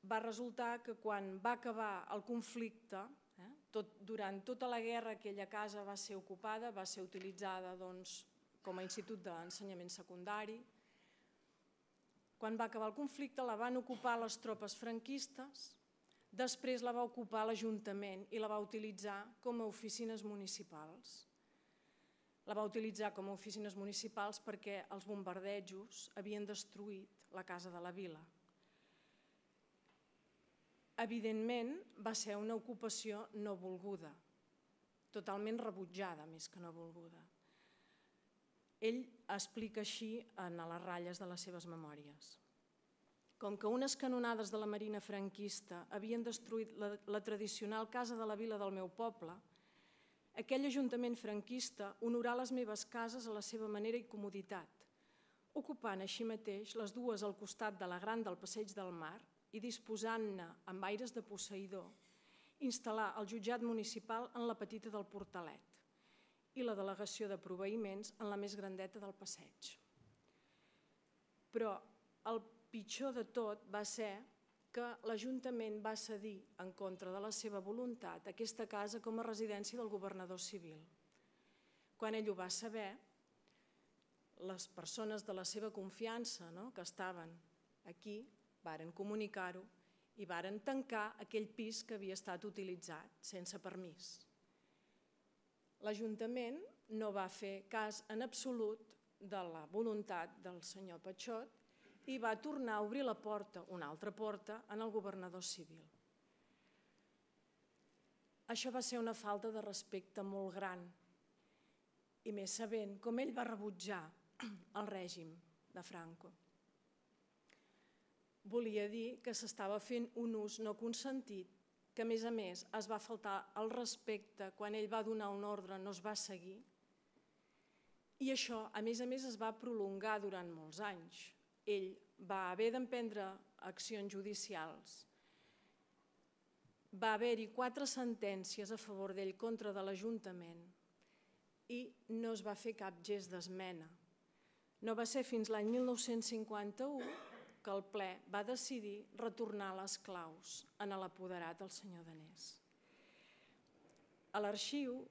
Speaker 3: va resultar que quan va acabar el conflicte, durant tota la guerra aquella casa va ser ocupada, va ser utilitzada com a institut d'ensenyament secundari. Quan va acabar el conflicte la van ocupar les tropes franquistes, després la va ocupar l'Ajuntament i la va utilitzar com a oficines municipals. La va utilitzar com a oficines municipals perquè els bombardejos havien destruït la Casa de la Vila. Evidentment, va ser una ocupació no volguda, totalment rebutjada més que no volguda. Ell explica així en les ratlles de les seves memòries. Com que unes canonades de la Marina franquista havien destruït la tradicional Casa de la Vila del meu poble, aquell ajuntament franquista honorà les meves cases a la seva manera i comoditat, ocupant així mateix les dues al costat de la gran del Passeig del Mar i disposant-ne, amb aires de posseïdor, instal·lar el jutjat municipal en la petita del Portalet i la delegació de proveïments en la més grandeta del passeig. Però el pitjor de tot va ser que l'Ajuntament va cedir en contra de la seva voluntat aquesta casa com a residència del governador civil. Quan ell ho va saber, les persones de la seva confiança que estaven aquí varen comunicar-ho i varen tancar aquell pis que havia estat utilitzat sense permís. L'Ajuntament no va fer cas en absolut de la voluntat del senyor Patxot i va tornar a obrir la porta, una altra porta, en el governador civil. Això va ser una falta de respecte molt gran i més sabent com ell va rebutjar el règim de Franco. Volia dir que s'estava fent un ús no consentit, que a més a més es va faltar el respecte quan ell va donar un ordre, no es va seguir, i això a més a més es va prolongar durant molts anys. Ell va haver d'emprendre accions judicials, va haver-hi quatre sentències a favor d'ell contra de l'Ajuntament i no es va fer cap gest d'esmena. No va ser fins l'any mil nou-cents cinquanta-u que el ple va decidir retornar les claus en l'apoderat del senyor Danés. A l'arxiu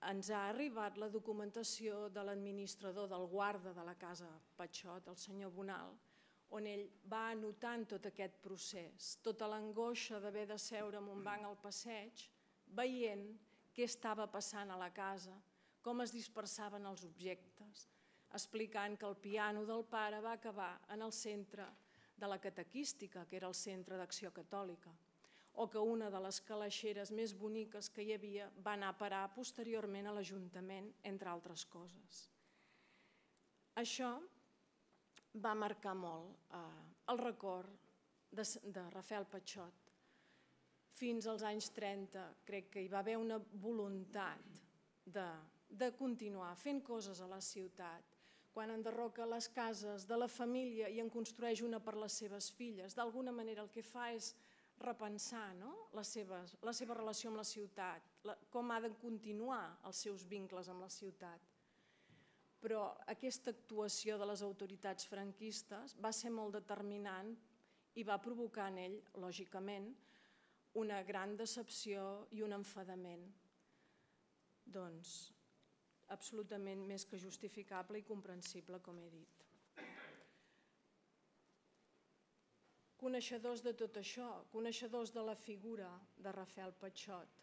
Speaker 3: ens ha arribat la documentació de l'administrador del guarda de la casa Patxot, el senyor Bonal, on ell va anotant tot aquest procés, tota l'angoixa d'haver de seure en un banc al passeig, veient què estava passant a la casa, com es dispersaven els objectes, explicant que el piano del pare va acabar en el centre de la catequística, que era el Centre d'Acció Catòlica, o que una de les calaixeres més boniques que hi havia va anar a parar posteriorment a l'Ajuntament, entre altres coses. Això va marcar molt el record de Rafael Patxot. Fins als anys trenta crec que hi va haver una voluntat de continuar fent coses a la ciutat. Quan enderroca les cases de la família i en construeix una per les seves filles, d'alguna manera el que fa és repensar la seva relació amb la ciutat, com ha de continuar els seus vincles amb la ciutat. Però aquesta actuació de les autoritats franquistes va ser molt determinant i va provocar en ell, lògicament, una gran decepció i un enfadament. Doncs, absolutament més que justificable i comprensible, com he dit. Coneixedors de tot això, coneixedors de la figura de Rafael Patxot,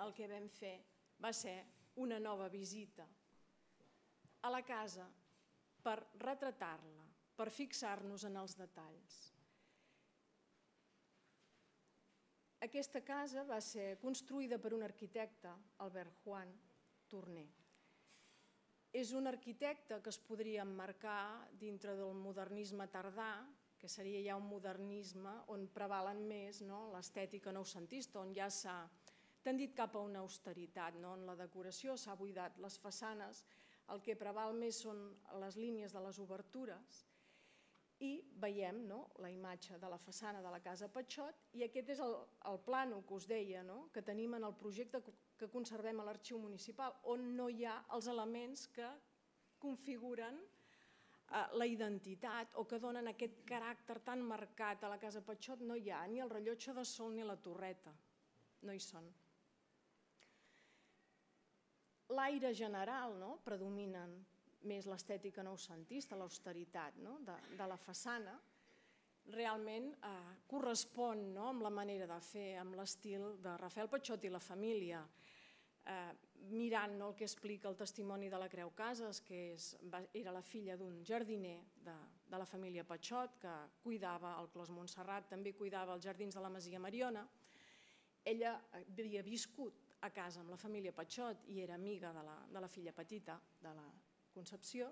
Speaker 3: el que vam fer va ser una nova visita a la casa per retratar-la, per fixar-nos en els detalls. Aquesta casa va ser construïda per un arquitecte, Albert Juan Torner. És un arquitecte que es podria emmarcar dintre del modernisme tardà, que seria ja un modernisme on prevalen més l'estètica noucentista, on ja s'ha tendit cap a una austeritat, on la decoració s'ha buidat les façanes, el que preval més són les línies de les obertures, i veiem la imatge de la façana de la casa Patxot i aquest és el plànol que us deia, que tenim en el projecte que conservem a l'Arxiu Municipal, on no hi ha els elements que configuren la identitat o que donen aquest caràcter tan marcat a la casa Patxot. No hi ha ni el rellotge de sol ni la torreta, no hi són. L'aire general predominen més l'estètica noucentista, l'austeritat de la façana, realment correspon amb la manera de fer, amb l'estil de Rafael Patxot i la família. Mirant el que explica el testimoni de la Creu Casas, que era la filla d'un jardiner de la família Patxot, que cuidava el Clos Montserrat, també cuidava els jardins de la Masia Mariona. Ella havia viscut a casa amb la família Patxot i era amiga de la filla petita, de la Concepció,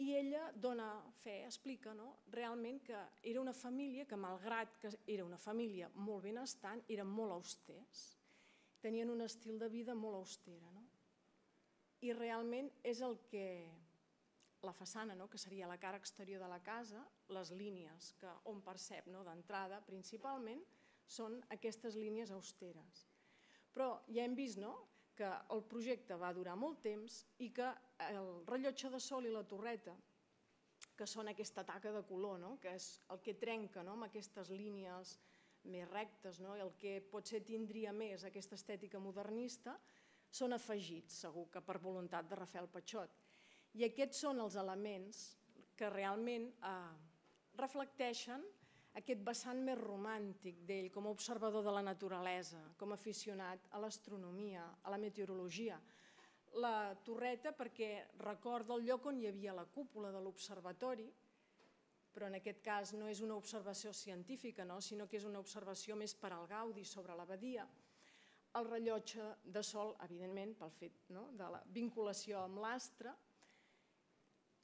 Speaker 3: i ella dona fe, explica realment que era una família que, malgrat que era una família molt benestant, eren molt austers, tenien un estil de vida molt austera. I realment és el que la façana, que seria la cara exterior de la casa, les línies on percep d'entrada principalment són aquestes línies austeres. Però ja hem vist que el projecte va durar molt temps i que el rellotge de sol i la torreta, que són aquesta taca de color, que és el que trenca amb aquestes línies més rectes, el que potser tindria més aquesta estètica modernista, són afegits, segur que per voluntat de Rafael Patxot. I aquests són els elements que realment reflecteixen aquest vessant més romàntic d'ell com a observador de la naturalesa, com a aficionat a l'astronomia, a la meteorologia. La torreta perquè recorda el lloc on hi havia la cúpula de l'observatori, però en aquest cas no és una observació científica, sinó que és una observació més per al gaudi sobre l'abadia. El rellotge de sol, evidentment, pel fet de la vinculació amb l'astre,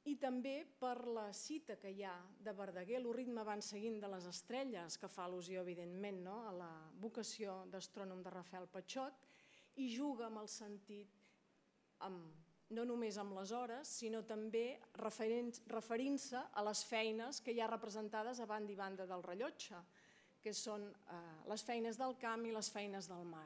Speaker 3: i també per la cita que hi ha de Verdaguer, el ritme van seguint de les estrelles, que fa al·lusió, evidentment, a la vocació d'astrònom de Rafael Patxot, i juga amb el sentit, no només amb les hores, sinó també referint-se a les feines que hi ha representades a banda i banda del rellotge, que són les feines del camp i les feines del mar.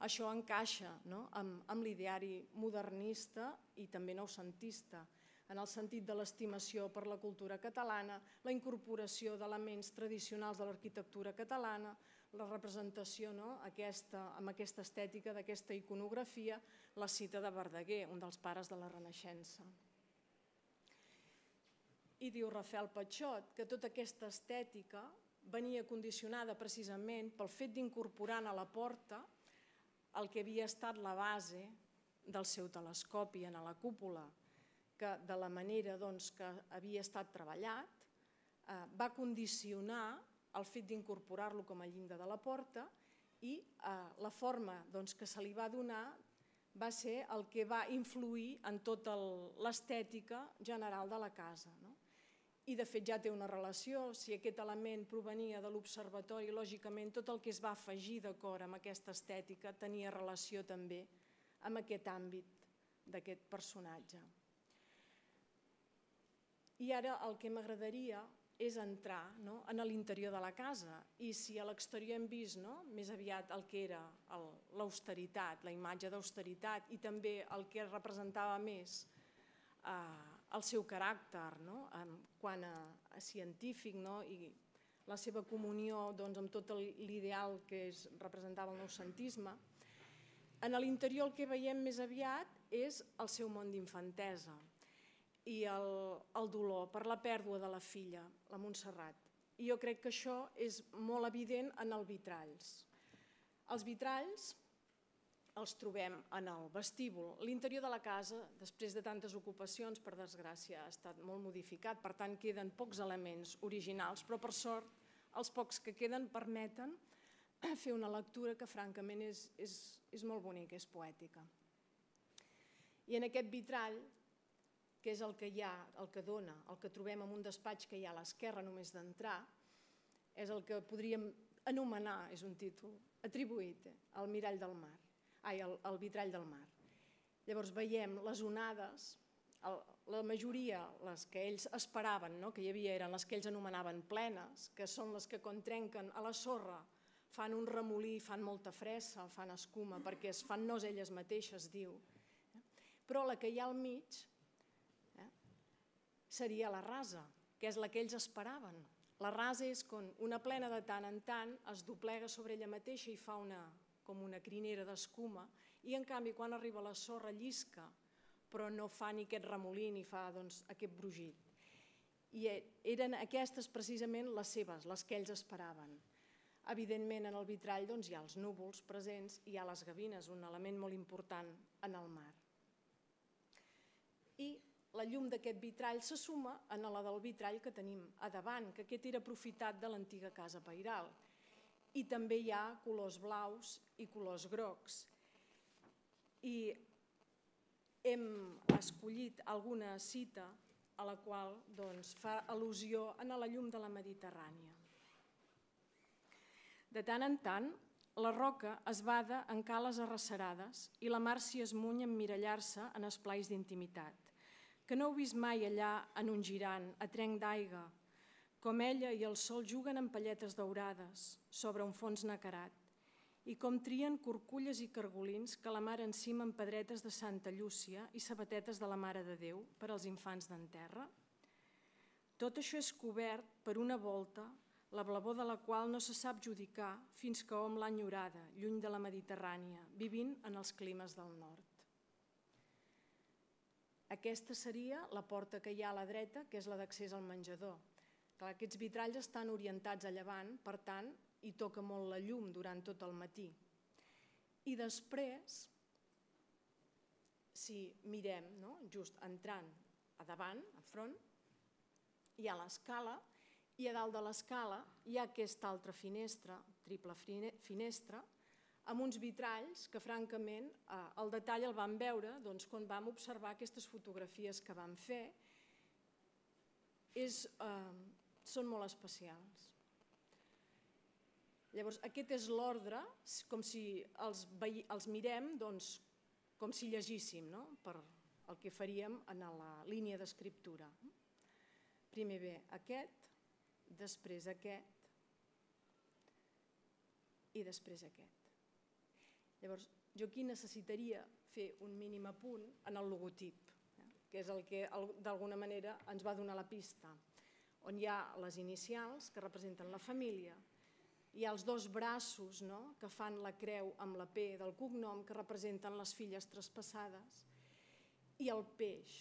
Speaker 3: Això encaixa amb l'ideari modernista i també noucentista, en el sentit de l'estimació per la cultura catalana, la incorporació d'elements tradicionals de l'arquitectura catalana, la representació amb aquesta estètica, d'aquesta iconografia, la cita de Verdaguer, un dels pares de la Renaixença. I diu Rafael Patxot que tota aquesta estètica venia condicionada precisament pel fet d'incorporar a la porta el que havia estat la base del seu telescopi, en la cúpula, que de la manera que havia estat treballat va condicionar el fet d'incorporar-lo com a llinda de la porta i la forma que se li va donar va ser el que va influir en tota l'estètica general de la casa. I de fet ja té una relació, si aquest element provenia de l'observatori, lògicament tot el que es va afegir d'acord amb aquesta estètica tenia relació també amb aquest àmbit d'aquest personatge. I ara el que m'agradaria és entrar en l'interior de la casa i si a l'exterior hem vist més aviat el que era l'austeritat, la imatge d'austeritat i també el que representava més el seu caràcter quant a científic i la seva comunió amb tot l'ideal que representava el noucentisme, en l'interior el que veiem més aviat és el seu món d'infantesa i el dolor per la pèrdua de la filla, la Montserrat. I jo crec que això és molt evident en els vitralls. Els vitralls els trobem en el vestíbul. L'interior de la casa, després de tantes ocupacions, per desgràcia, ha estat molt modificat, per tant queden pocs elements originals, però per sort els pocs que queden permeten fer una lectura que francament és molt bonica, és poètica. I en aquest vitrall, que és el que hi ha, el que dona, el que trobem en un despatx que hi ha a l'esquerra només d'entrar, és el que podríem anomenar, és un títol atribuït al mirall del mar, ai, al vitrall del mar. Llavors veiem les onades, la majoria, les que ells esperaven que hi havia, eren les que ells anomenaven plenes, que són les que quan trenquen a la sorra fan un remolí, fan molta fressa, fan escuma, perquè es fan nos elles mateixes, diu. Però la que hi ha al mig seria la rasa, que és la que ells esperaven. La rasa és quan una plena de tant en tant es doblega sobre ella mateixa i fa com una crinera d'escuma i en canvi quan arriba la sorra llisca però no fa ni aquest remolí ni fa aquest brugit. I eren aquestes precisament les seves, les que ells esperaven. Evidentment en el vitrall hi ha els núvols presents i hi ha les gavines, un element molt important en el mar. I la llum d'aquest vitrall se suma a la del vitrall que tenim a davant, que aquest era aprofitat de l'antiga casa pairal. I també hi ha colors blaus i colors grocs. I hem escollit alguna cita a la qual fa al·lusió a la llum de la Mediterrània. De tant en tant, la roca es bada en cales arrecerades i la mar s'hi esmuny a emmirallar-se en esplais d'intimitat. Que no heu vist mai allà en un girant, a trenc d'aigua, com ella i el sol juguen amb palletes daurades sobre un fons nacarat, i com trien curculles i cargolins que la mar encima amb pedretes de Santa Llúcia i sabatetes de la Mare de Déu per als infants d'en terra? Tot això és cobert per una volta, la blavor de la qual no se sap judicar fins que hom l'ha enyorada, lluny de la Mediterrània, vivint en els climes del nord. Aquesta seria la porta que hi ha a la dreta, que és la d'accés al menjador. Aquests vitralls estan orientats a llevant, per tant, hi toca molt la llum durant tot el matí. I després, si mirem, just entrant a davant, a front, hi ha l'escala, i a dalt de l'escala hi ha aquesta altra finestra, triple finestra, amb uns vitralls que, francament, el detall el vam veure quan vam observar aquestes fotografies que vam fer. Són molt especials. Llavors, aquest és l'ordre, com si els mirem com si llegíssim, per el que faríem en la línia d'escriptura. Primer ve aquest, després aquest i després aquest. Llavors, jo aquí necessitaria fer un mínim apunt en el logotip, que és el que d'alguna manera ens va donar la pista, on hi ha les inicials que representen la família, hi ha els dos braços que fan la creu amb la P del cognom que representen les filles traspassades i el peix,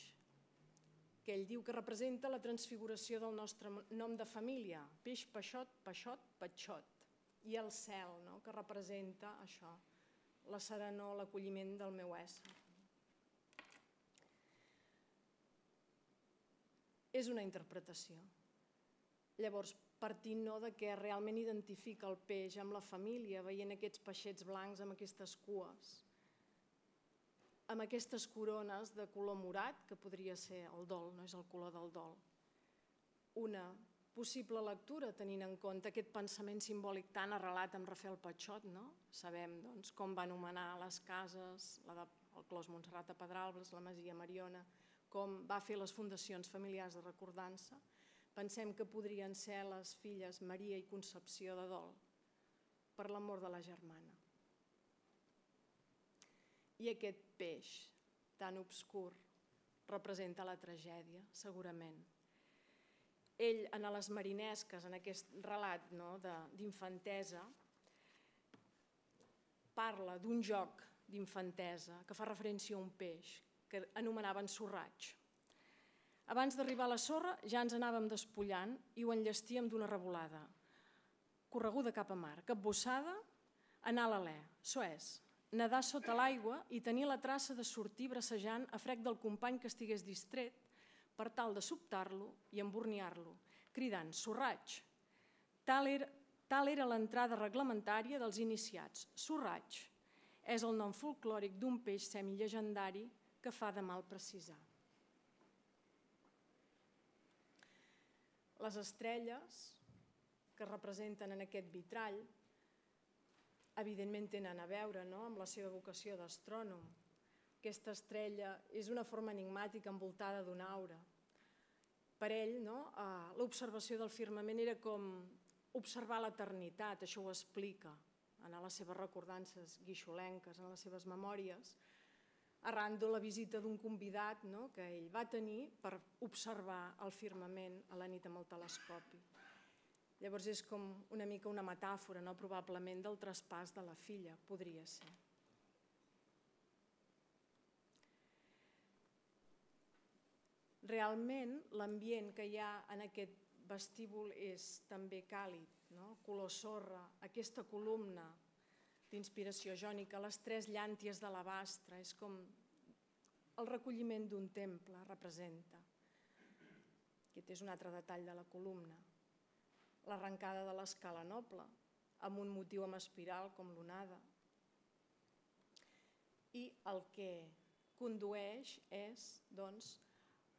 Speaker 3: que ell diu que representa la transfiguració del nostre nom de família, peix, peixot, peixot, petxot, i el cel, que representa això, la serenor, l'acolliment del meu ésser. és una interpretació. Llavors, partint de què realment identifica el peix amb la família, veient aquests peixets blancs amb aquestes cues, amb aquestes corones de color morat, que podria ser el dol, no és el color del dol. Una possible lectura, tenint en compte aquest pensament simbòlic tan arrelat amb Rafael Patxot, no? Sabem doncs, com va anomenar les cases, la de, el Clos Montserrat a Pedralbes, la Masia Mariona, com va fer les fundacions familiars de recordança. Pensem que podrien ser les filles Maria i Concepció de Dol per l'amor de la germana. I aquest peix tan obscur representa la tragèdia, segurament. Ell, en les marinesques, en aquest relat d'infantesa, parla d'un joc d'infantesa que fa referència a un peix que anomenaven sorraig. Abans d'arribar a la sorra ja ens anàvem despullant i ho enllestíem d'una revolada. Correguda cap a mar, capbussada, anar a l'alè,çò és, nedar sota l'aigua i tenir la traça de sortir bracejant a frec del company que estigués distret per tal de sobtar-lo i emborniar-lo, cridant sorraig. Tal era, tal era l'entrada reglamentària dels iniciats. Sorraig és el nom folclòric d'un peix semilegendari que fa de mal precisar. Les estrelles que representen en aquest vitrall evidentment tenen a veure amb la seva vocació d'astrònom. Aquesta estrella és una forma enigmàtica envoltada d'una aura. Per ell, l'observació del firmament era com observar l'eternitat, això ho explica en les seves recordances guixolenques, en les seves memòries, arran de la visita d'un convidat que ell va tenir per observar el firmament a la nit amb el telescopi. Llavors és com una mica una metàfora, probablement, del traspàs de la filla, podria ser. Realment, l'ambient que hi ha en aquest vestíbul és també càlid, color sorra, aquesta columna d'inspiració jònica, les tres llànties de l'alabastre, és com el recolliment d'un temple, representa. Aquest és un altre detall de la columna. L'arrencada de l'escala noble, amb un motiu amb espiral com l'onada. I el que condueix és, doncs,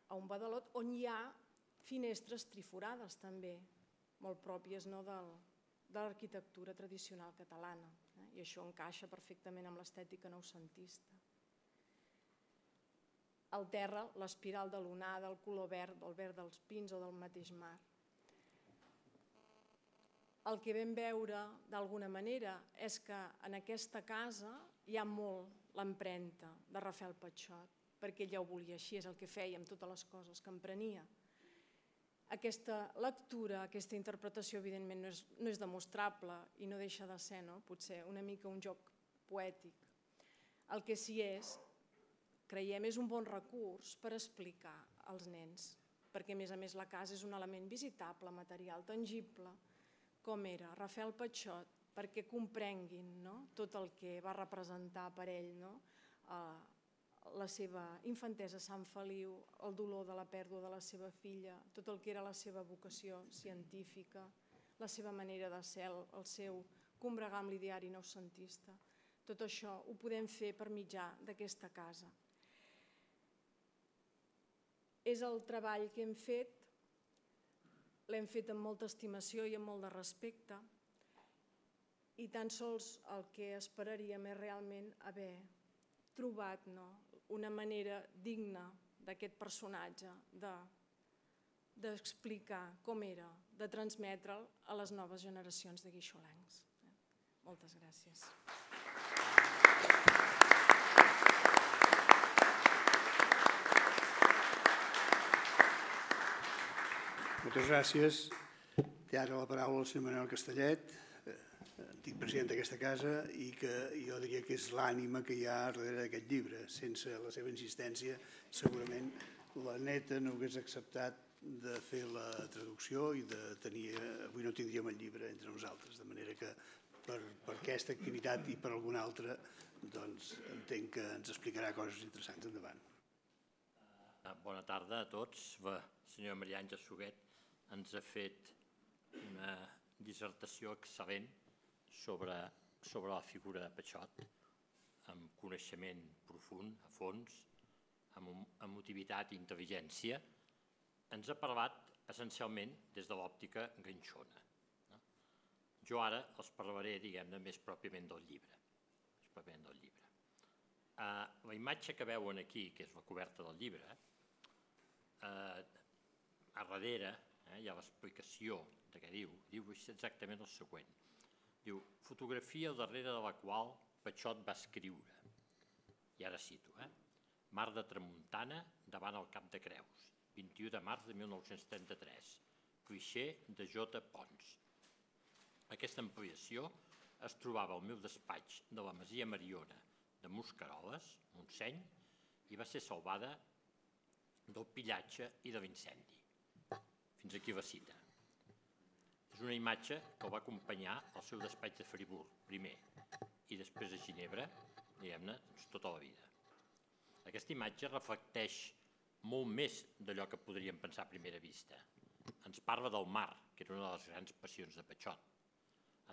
Speaker 3: a un badalot on hi ha finestres triforades també, molt pròpies de l'arquitectura tradicional catalana. I això encaixa perfectament amb l'estètica noucentista. Al terra, l'espiral de l'onada, el color verd, el verd dels pins o del mateix mar. El que vam veure, d'alguna manera, és que en aquesta casa hi ha molt l'empremta de Rafael Patxot, perquè ell ja ho volia així, és el que feia amb totes les coses que emprenia. Aquesta lectura, aquesta interpretació, evidentment, no és demostrable i no deixa de ser, potser, una mica un joc poètic. El que sí és, creiem, és un bon recurs per explicar als nens, perquè, a més a més, la casa és un element visitable, material, tangible, com era Rafael Patxot, perquè comprenguin tot el que va representar per ell la seva infantesa a Sant Feliu, el dolor de la pèrdua de la seva filla, tot el que era la seva vocació científica, la seva manera de ser, el seu combregar amb l'ideari noucentista. Tot això ho podem fer per mitjà d'aquesta casa. És el treball que hem fet, l'hem fet amb molta estimació i amb molt de respecte, i tan sols el que esperaríem és realment haver trobat una manera digna d'aquest personatge d'explicar com era, de transmetre'l a les noves generacions de guixolencs. Moltes gràcies.
Speaker 1: Moltes gràcies. Té ara la paraula el senyor Manuel Castellet, antic president d'aquesta casa, i que jo diria que és l'ànima que hi ha darrere d'aquest llibre. Sense la seva insistència, segurament la neta no hagués acceptat de fer la traducció i de tenir... Avui no tindríem el llibre entre nosaltres, de manera que per aquesta activitat i per alguna altra, doncs entenc que ens explicarà coses interessants endavant.
Speaker 4: Bona tarda a tots. La senyora Maria Àngels Suguet ens ha fet una dissertació excel·lent sobre, sobre la figura de Patxot, amb coneixement profund, a fons, amb emotivitat i intel·ligència. Ens ha parlat essencialment des de l'òptica ganxona. No? Jo ara els parlaré, diguem-ne, més pròpiament del llibre. Més pròpiament del llibre. Uh, la imatge que veuen aquí, que és la coberta del llibre, uh, a darrere eh, hi ha l'explicació de què diu. Diu exactament el següent. Diu, fotografia al darrere de la qual Patxot va escriure. I ara cito, eh? Mar de Tramuntana davant el Cap de Creus, vint-i-u de març de mil nou-cents trenta-tres, clixé de J. Pons. Aquesta ampliació es trobava al meu despatx de la Masia Mariona de Mosqueroles, Montseny, i va ser salvada del pillatge i de l'incendi. Fins aquí la cita. És una imatge que el va acompanyar al seu despatx de Friburg, primer, i després a Ginebra, diguem-ne, tota la vida. Aquesta imatge reflecteix molt més d'allò que podríem pensar a primera vista. Ens parla del mar, que era una de les grans passions de Patxot.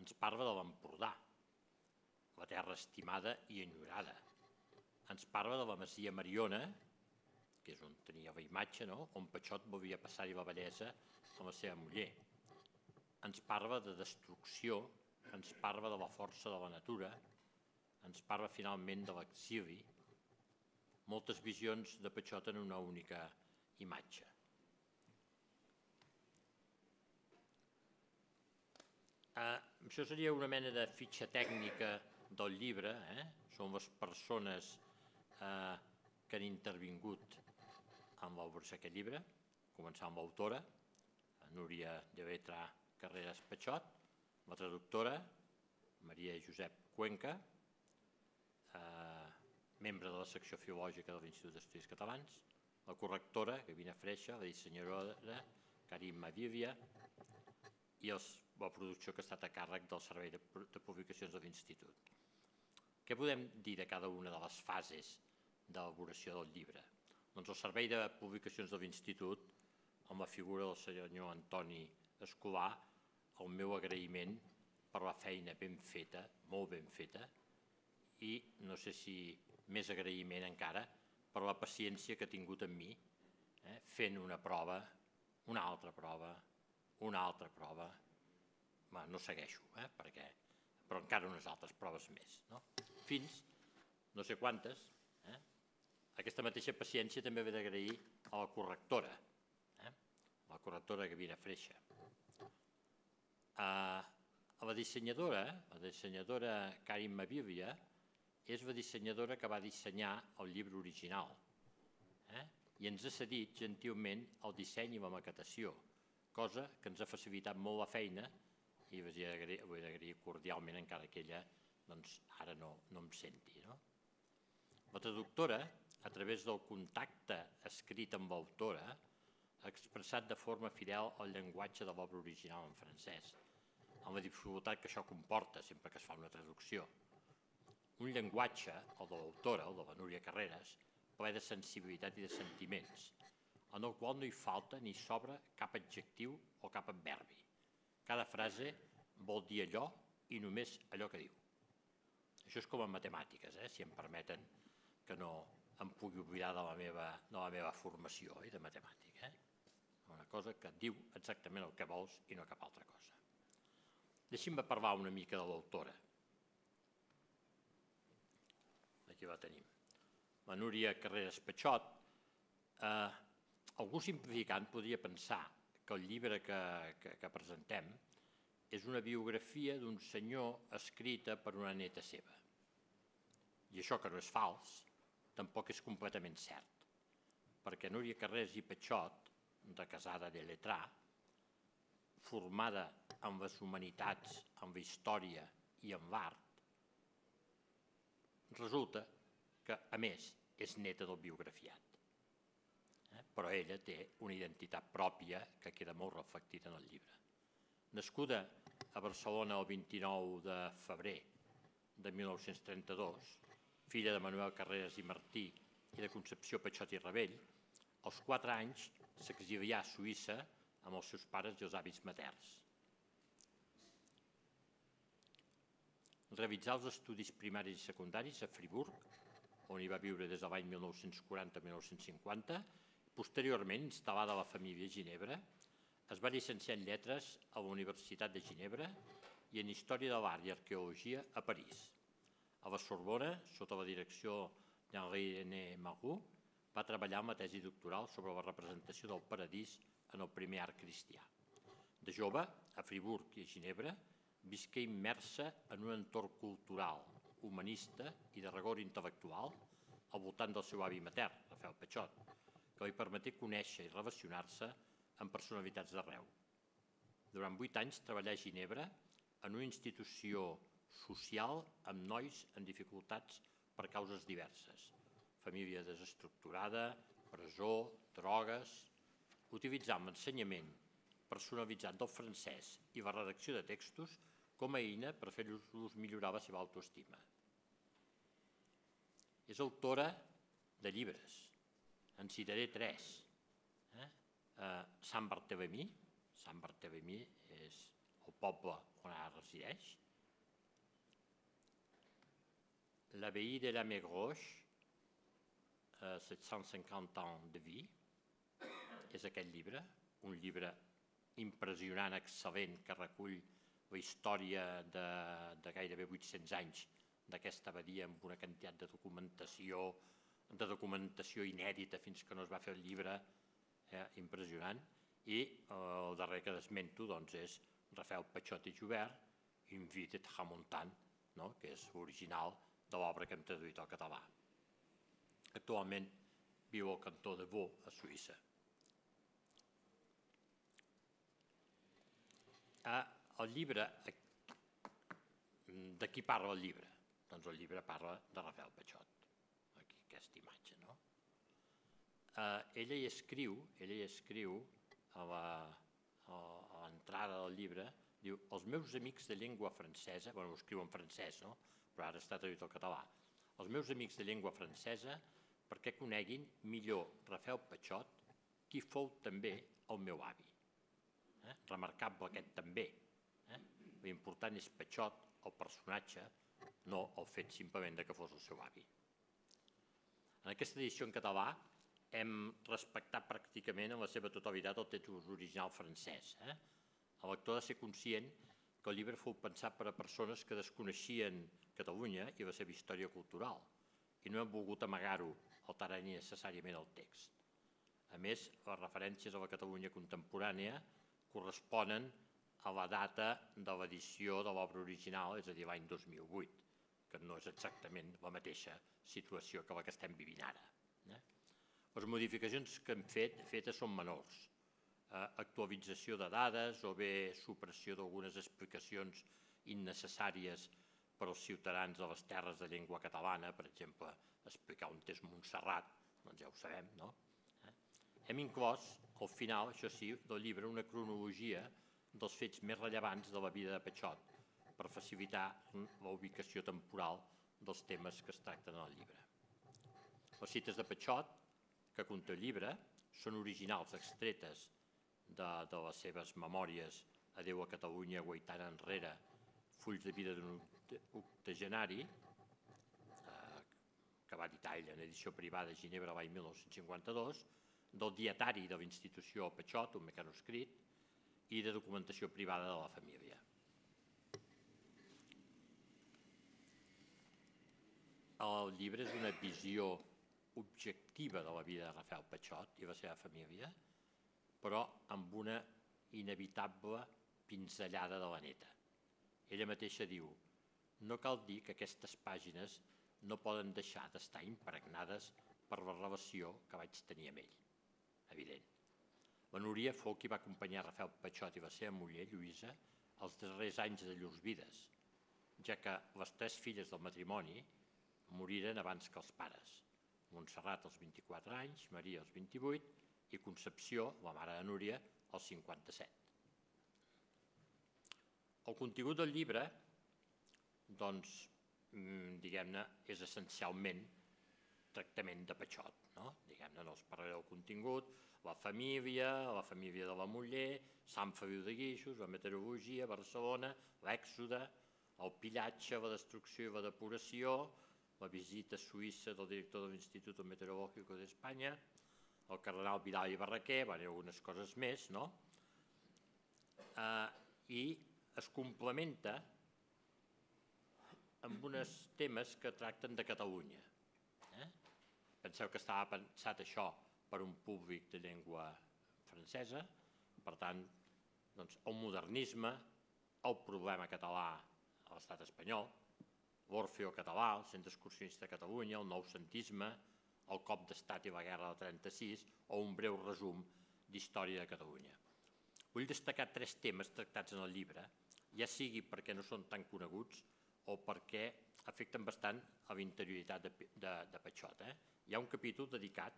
Speaker 4: Ens parla de l'Empordà, la terra estimada i enyorada. Ens parla de la Masia Mariona, que és on tenia la imatge, no? On Patxot volia passar-hi la bellesa amb la seva muller. Ens parla de destrucció, ens parla de la força de la natura, ens parla finalment de l'exili. Moltes visions de Patxot en una única imatge. Uh, això seria una mena de fitxa tècnica del llibre, eh? Són les persones eh, que han intervingut en l'elaboració d'aquest llibre, començant amb l'autora, Núria de Vetra Carreras Patxot, la traductora, Maria Josep Cuenca, eh, membre de la secció filològica de l'Institut d'Estudis Catalans, la correctora, Gavina Freixa, la dissenyadora, Karim Mavivia, i els, la producció que ha estat a càrrec del Servei de, de Publicacions de l'Institut. Què podem dir de cada una de les fases d'elaboració del llibre? Doncs el Servei de Publicacions de l'Institut, amb la figura del senyor Antoni Escolar, el meu agraïment per la feina ben feta, molt ben feta, i no sé si més agraïment encara per la paciència que ha tingut amb mi, eh, fent una prova, una altra prova, una altra prova. Bé, no segueixo, eh, perquè, però encara unes altres proves més, no? Fins, no sé quantes, eh? Aquesta mateixa paciència també ve d'agrair a la correctora, eh? A la correctora Gavina Freixa. A, a la dissenyadora, la dissenyadora Karim Mavivia, és la dissenyadora que va dissenyar el llibre original, eh? I ens ha cedit gentilment el disseny i la maquetació, cosa que ens ha facilitat molt la feina i vull agrair cordialment encara que ella doncs, ara no, no em senti. No? La traductora, a través del contacte escrit amb l'autora, ha expressat de forma fidel el llenguatge de l'obra original en francès, amb la dificultat que això comporta sempre que es fa una traducció. Un llenguatge, el de l'autora, el de la Núria Carreras, ple de sensibilitat i de sentiments, en el qual no hi falta ni sobra cap adjectiu o cap adverbi. Cada frase vol dir allò i només allò que diu. Això és com en matemàtiques, eh? Si em permeten que no em pugui oblidar de la meva, de la meva formació eh? de matemàtica. Eh? Una cosa que diu exactament el que vols i no cap altra cosa. Deixi'm parlar una mica de l'autora. Aquí la tenim. La Núria Carreras Patxot. Eh, algú simplificant podria pensar que el llibre que, que, que presentem és una biografia d'un senyor escrita per una neta seva. I això, que no és fals, tampoc és completament cert, perquè Núria Carreras i Patxot, de casada de lletrà, formada en les humanitats, en la història i en l'art, resulta que, a més, és neta del biografiat. Eh? Però ella té una identitat pròpia que queda molt reflectida en el llibre. Nascuda a Barcelona el vint-i-nou de febrer de mil nou-cents trenta-dos, filla de Manuel Carreras i Martí i de Concepció Patxot i Ravell, als quatre anys s'exilià a Suïssa amb els seus pares i els avis materns. Realitzà els estudis primaris i secundaris a Friburg, on hi va viure des de l'any mil nou-cents quaranta a mil nou-cents cinquanta. Posteriorment, instal·lada la família a Ginebra, es va llicenciar en lletres a la Universitat de Ginebra i en Història de l'Art i Arqueologia a París. A la Sorbona, sota la direcció d'Henri-René Magou, va treballar en la tesi doctoral sobre la representació del paradís en el primer art cristià. De jove, a Friburg i a Ginebra, visqué immersa en un entorn cultural, humanista i de rigor intel·lectual al voltant del seu avi matern, Rafael Pachot, que li permeté conèixer i relacionar-se amb personalitats d'arreu. Durant vuit anys treballà a Ginebra en una institució social amb nois en dificultats per causes diverses, família desestructurada, presó, drogues, utilitzant l'ensenyament personalitzat del francès i la redacció de textos com a eina per fer-los millorar la seva autoestima. És autora de llibres, en citaré tres. Sant Barthélemy, Sant Barthélemy és el poble on ara resideix. L'abbaye de la Mégroche, set cents cinquanta ans de vie, és aquest llibre, un llibre impressionant, excel·lent, que recull la història de, de gairebé vuit-cents anys d'aquesta abadia amb una quantitat de documentació, de documentació inèdita fins que no es va fer el llibre, eh, impressionant. I eh, el darrer que desmento doncs, és Rafael Pachot i Joubert, Une vie de tramontant, no? Que és l'original de l'obra que hem traduït al català. Actualment viu al cantó de Vaud, a Suïssa. El llibre, de qui parla el llibre? Doncs el llibre parla de Rafael Pachot, aquí aquesta imatge, no? Ella hi escriu, ella hi escriu a l'entrada del llibre, diu, els meus amics de llengua francesa, bueno, ho escriu en francès, no? Però ara està traduït al català, els meus amics de llengua francesa perquè coneguin millor Rafael Pachot, qui fou també el meu avi. Remarcable aquest també. L'important és Pachot, el personatge, no el fet simplement que fos el seu avi. En aquesta edició en català hem respectat pràcticament en la seva totalitat el text original francès. El lector ha de ser conscient que el llibre fou pensat per a persones que desconeixien Catalunya i la seva història cultural i no han volgut amagar-ho alterant innecessàriament el text. A més, les referències a la Catalunya contemporània corresponen a la data de l'edició de l'obra original, és a dir, l'any dos mil vuit, que no és exactament la mateixa situació que la que estem vivint ara. Les modificacions que hem fet fetes són menors. Actualització de dades o bé supressió d'algunes explicacions innecessàries per als ciutadans de les terres de llengua catalana, per exemple, explicar on és Montserrat, doncs ja ho sabem, no? Hem inclòs, al final, això sí, del llibre, una cronologia dels fets més rellevants de la vida de Pachot per facilitar la ubicació temporal dels temes que es tracten en el llibre. Les cites de Pachot, que conté el llibre, són originals, extretes de, de les seves memòries Adéu a Catalunya, Guaitana enrere, fulls de vida d'un octogenari, eh, que va editar ella en edició privada a Ginebra l'any mil nou-cents cinquanta-dos, del dietari de la institució Pachot, un mecanoscrit, i de documentació privada de la família. El llibre és una visió objectiva de la vida de Rafael Pachot i la seva família, però amb una inevitable pinzellada de la neta. Ella mateixa diu, no cal dir que aquestes pàgines no poden deixar d'estar impregnades per la relació que vaig tenir amb ell. Evident. La Núria fou qui va acompanyar Rafael Pachot i la seva muller, Lluïsa, els darrers anys de llurs vides, ja que les tres filles del matrimoni moriren abans que els pares. Montserrat als vint-i-quatre anys, Maria als vint-i-vuit i Concepció, la mare de Núria, als cinquanta-set. El contingut del llibre, doncs, diguem-ne, és essencialment tractament de Pachot, no? Diguem-ne, no els parlaré del contingut, la família, la família de la muller, Sant Feliu de Guíxols, la meteorologia, Barcelona, l'èxode, el pillatge, la destrucció i la depuració, la visita a Suïssa del director de l'Institut Meteorològic d'Espanya, el cardenal Vidal i Barraquer, van algunes coses més, no? I es complementa amb uns temes que tracten de Catalunya. Penseu que estava pensat això per un públic de llengua francesa, per tant, el modernisme, el problema català a l'estat espanyol, l'Orfeo català, el Centre Excursionista de Catalunya, el noucentisme, el cop d'estat i la guerra del trenta-sis, o un breu resum d'història de Catalunya. Vull destacar tres temes tractats en el llibre, ja sigui perquè no són tan coneguts o perquè afecten bastant a la interioritat de Patxot. Hi ha un capítol dedicat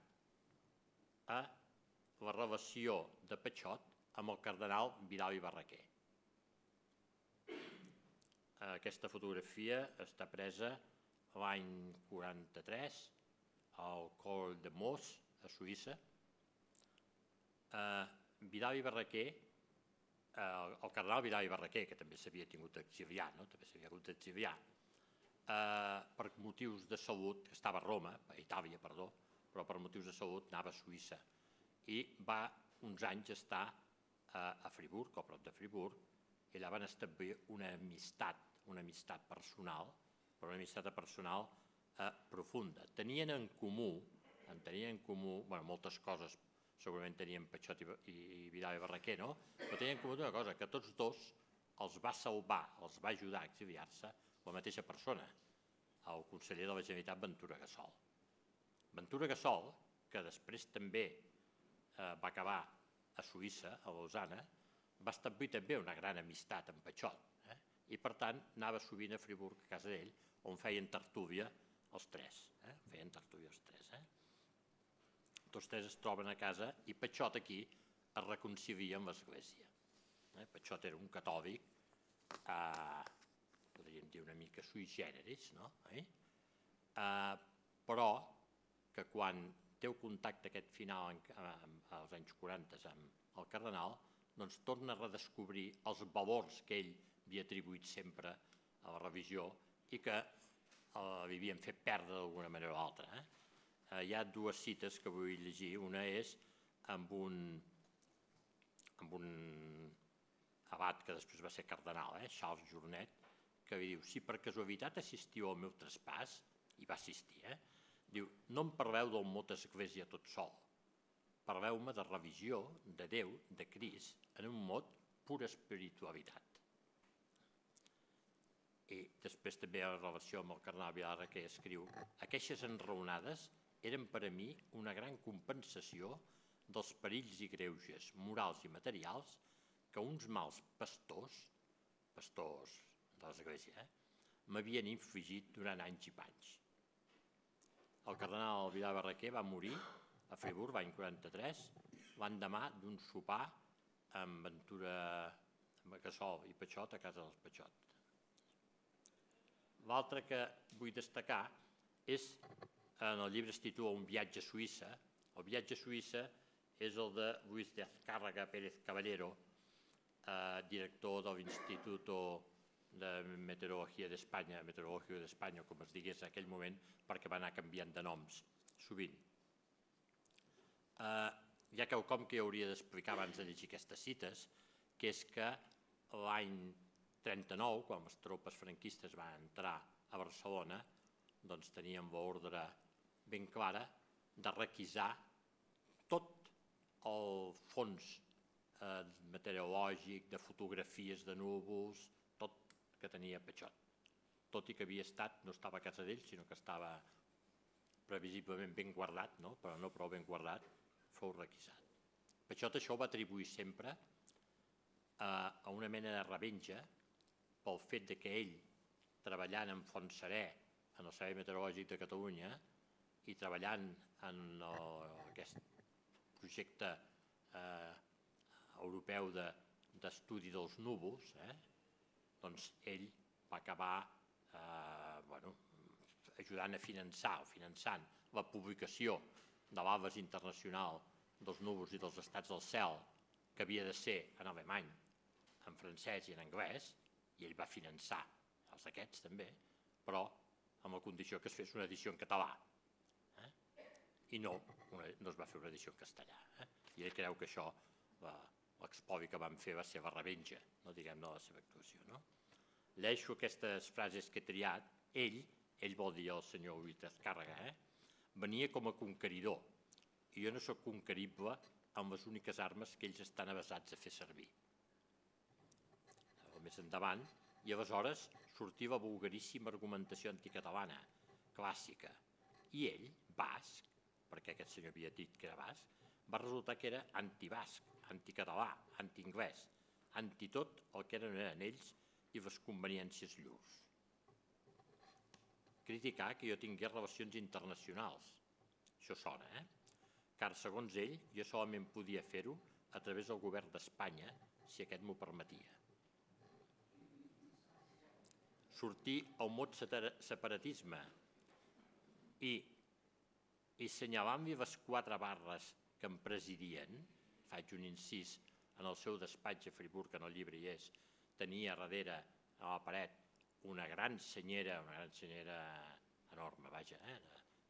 Speaker 4: a la relació de Patxot amb el cardenal Vidal i Barraquer. Aquesta fotografia està presa l'any quaranta-tres al Col de Mos, a Suïssa. Vidal i Barraquer, el cardenal Vidal i Barraquer, que també s'havia tingut d'exiliar, també s'havia hagut d'exiliar, per motius de salut, que estava a Roma, a Itàlia, perdó, però per motius de salut anava a Suïssa i va uns anys estar a Friburg, o a prop de Friburg, i allà van establir una amistat, una amistat personal, però una amistat personal profunda. Tenien en comú, en tenien en comú, bueno, moltes coses segurament tenien Patxot i Vidal i Barraquer, no? Però tenien en comú una cosa, que tots dos els va salvar, els va ajudar a exiliar-se la mateixa persona, el conseller de la Generalitat Ventura Gassol. Ventura Gassol, que després també va acabar a Suïssa, a Lausana, va establir també una gran amistat amb Patxot i per tant anava sovint a Friburg, a casa d'ell, on feien tertúlia els tres. Feien tertúlia els tres. Tots tres es troben a casa i Patxot aquí es reconcilia amb l'Església. Patxot era un catòlic, podríem dir una mica sui generis, però que quan té el contacte aquest final als anys quaranta amb el cardenal, doncs torna a redescobrir els valors que ell havia atribuït sempre a la religió i que li havien fet perdre d'alguna manera o altra. Hi ha dues cites que vull llegir. Una és amb un abat que després va ser cardenal, Charles Journet, que diu: si per casualitat assistiu al meu traspàs, i va assistir, diu, no em parleu del mot església tot sol, parleu-me de religió, de Déu, de Crist, en un mot pura espiritualitat. I després també en relació amb el cardenal Vidal que escriu: aquestes enraonades eren per a mi una gran compensació dels perills i greuges morals i materials que uns mals pastors, pastors de l'Església, m'havien infligit durant anys i panys. El cardenal Vidal Barraquer va morir a Friburg l'any quaranta-tres, l'endemà d'un sopar amb Ventura Gassol i Patxot a casa dels Patxot. L'altre que vull destacar és, en el llibre es titula Un viatge a Suïssa. El viatge a Suïssa és el de Luis de Azcárraga Pérez Caballero, director de l'Institut de Meteorologia d'Espanya, Meteorològic d'Espanya, com es digués en aquell moment, perquè va anar canviant de noms sovint. Hi ha quelcom que hauria d'explicar abans de llegir aquestes cites, que és que l'any trenta-nou, quan les tropes franquistes van entrar a Barcelona, doncs teníem l'ordre ben clara de requisar tot el fons meteorològic, de fotografies de núvols, tot que tenia Patxot. Tot i que havia estat, no estava a casa d'ell, sinó que estava previsiblement ben guardat, però no prou ben guardat, fou requisat. Patxot això ho va atribuir sempre a una mena de revenja pel fet que ell, treballant en Fontserè, en el Servei Meteorològic de Catalunya, i treballant en aquest projecte europeu d'estudi dels núvols, doncs ell va acabar ajudant a finançar o finançant la publicació de l'Atles Internacional dels núvols i dels estats del cel, que havia de ser en alemany, en francès i en anglès, i ell va finançar els d'aquests també, però amb la condició que es fes una edició en català. Eh? I no, una, no es va fer una edició en castellà. Eh? I ell creu que això, l'expodi que van fer va ser la revenja, no diguem-ne la seva actuació. No? Lleixo aquestes frases que he triat, ell, ell vol dir el senyor Lluís Azcárraga, eh? Venia com a conqueridor, i jo no soc conquerible amb les úniques armes que ells estan avesats a fer servir. Més endavant, i aleshores sortia la vulgaríssima argumentació anticatalana, clàssica, i ell, basc, perquè aquest senyor havia dit que era basc, va resultar que era antibasc, anticatalà, antianglès, anti tot el que eren ells i les conveniències llurs. Criticar que jo tingués relacions internacionals, això sona, eh? Car, segons ell, jo solament podia fer-ho a través del govern d'Espanya, si aquest m'ho permetia. Sortir al mot separatisme i, i assenyalant-li les quatre barres que em presidien, faig un incís en el seu despatx a Friburg, que en el llibre hi és, tenia darrere a la paret una gran senyera, una gran senyera enorme, vaja, eh?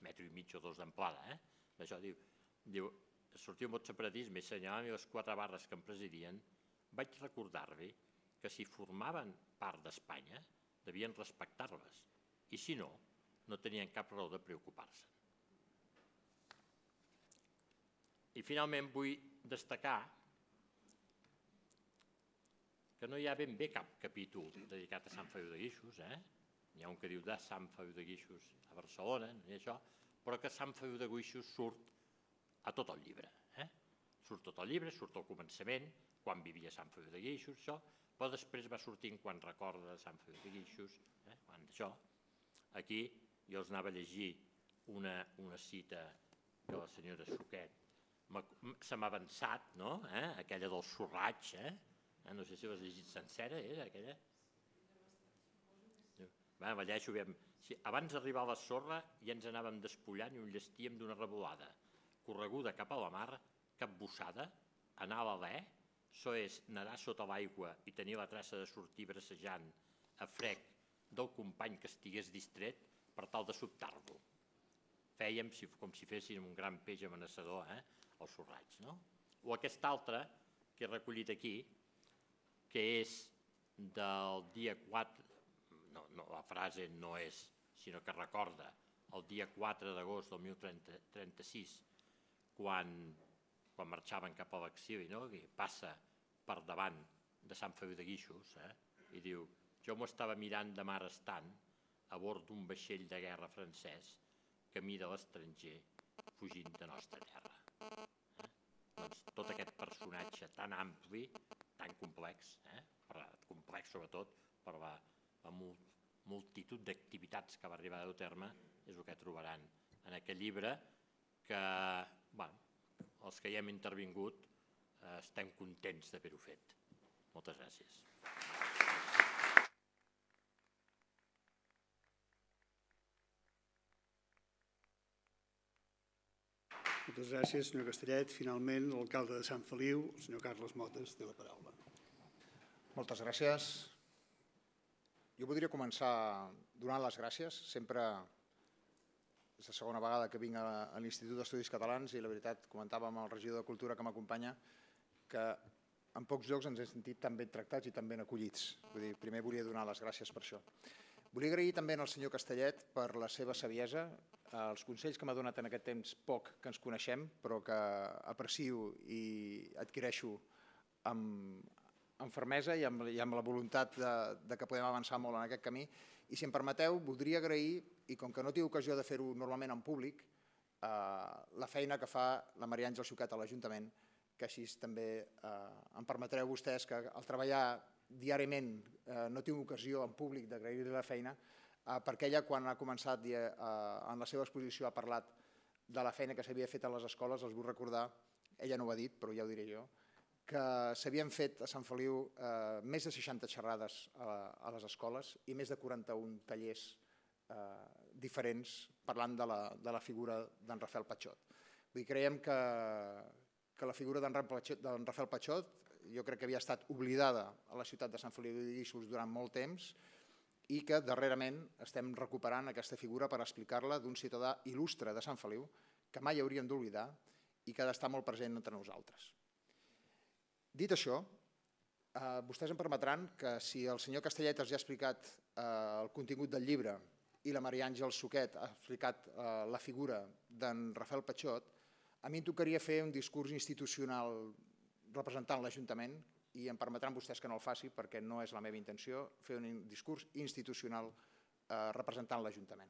Speaker 4: metro i mig o dos d'amplada, eh? Això diu, diu, sortir al mot separatisme i assenyalant-li les quatre barres que em presidien, vaig recordar-li que si formaven part d'Espanya, devien respectar-les, i si no, no tenien cap raó de preocupar-se. I finalment vull destacar que no hi ha ben bé cap capítol dedicat a Sant Feliu de Guíxols, eh? N'hi ha un que diu de Sant Feliu de Guíxols a Barcelona, no hi ha això, però que Sant Feliu de Guíxols surt a tot el llibre. Eh? Surt tot el llibre, surt al començament, quan vivia Sant Feliu de Guíxols, això, però després va sortint quan recorda Sant Feliu de Guíxols, eh? quan d'això. Aquí jo els anava a llegir una, una cita que la senyora Suquet se m'ha avançat, no? eh? aquella del sorraig, eh? no sé si l'has llegit sencera, era aquella? Va, la llegeixo, sí, abans d'arribar a la sorra ja ens anàvem despullant i ho llestíem d'una revolada. Correguda cap a la mar, capbussada, anar a l'alè, això és nedar sota l'aigua i tenir la traça de sortir bracejant a frec del company que estigués distret per tal de sobtar-lo. Fèiem com si féssim un gran peix amenaçador, eh? el sorraig. No? O aquest altre, que he recollit aquí, que és del dia quatre, no, no, la frase no és, sinó que recorda el dia quatre d'agost del mil trenta-sis, quan, quan marxaven cap a l'exili, no? i passa per davant de Sant Feliu de Guíxols, eh? i diu, jo m'ho estava mirant de mar estant a bord d'un vaixell de guerra francès camí de l'estranger fugint de nostra terra. Eh? Doncs tot aquest personatge tan ampli, tan complex, eh? complex sobretot per la, la multitud d'activitats que va arribar a dur terme, és el que trobaran en aquest llibre que, bueno, els que hi hem intervingut eh, estem contents d'haver-ho fet. Moltes gràcies.
Speaker 1: Moltes gràcies, senyor Castellet. Finalment, l'alcalde de Sant Feliu, el senyor Carles Motes, té la paraula.
Speaker 5: Moltes gràcies. Jo voldria començar donant les gràcies. Sempre és la segona vegada que vinc a l'Institut d'Estudis Catalans i la veritat, comentava amb el regidor de Cultura que m'acompanya, que en pocs llocs ens hem sentit tan ben tractats i tan ben acollits. Vull dir, primer volia donar les gràcies per això. Volia agrair també al senyor Castellet per la seva saviesa, els consells que m'ha donat en aquest temps poc que ens coneixem, però que aprecio i adquireixo amb, amb fermesa i amb, i amb la voluntat de, de que podem avançar molt en aquest camí. I si em permeteu, voldria agrair, i com que no tinc ocasió de fer-ho normalment en públic, eh, la feina que fa la Maria Àngels Xucat a l'Ajuntament, que així també eh, em permetreu vostès que al treballar diàriament eh, no tinc ocasió en públic d'agrair-li la feina, eh, perquè ella quan ha començat eh, en la seva exposició ha parlat de la feina que s'havia fet a les escoles. Els vull recordar, ella no ho ha dit però ja ho diré jo, que s'havien fet a Sant Feliu eh, més de seixanta xerrades a, a les escoles i més de quaranta-un tallers eh, diferents parlant de la, de la figura d'en Rafael Patxot. Creiem que, que la figura d'en Rafael Patxot jo crec que havia estat oblidada a la ciutat de Sant Feliu de Guíxols durant molt temps i que darrerament estem recuperant aquesta figura per explicar-la d'un ciutadà il·lustre de Sant Feliu que mai hauríem d'oblidar i que ha d'estar molt present entre nosaltres. Dit això, vostès em permetran que si el senyor Castellet els ha explicat el contingut del llibre i la Maria Àngels Suquet ha explicat la figura d'en Rafael Patxot, a mi em tocaria fer un discurs institucional representant l'Ajuntament i em permetran vostès que no el faci perquè no és la meva intenció fer un discurs institucional representant l'Ajuntament.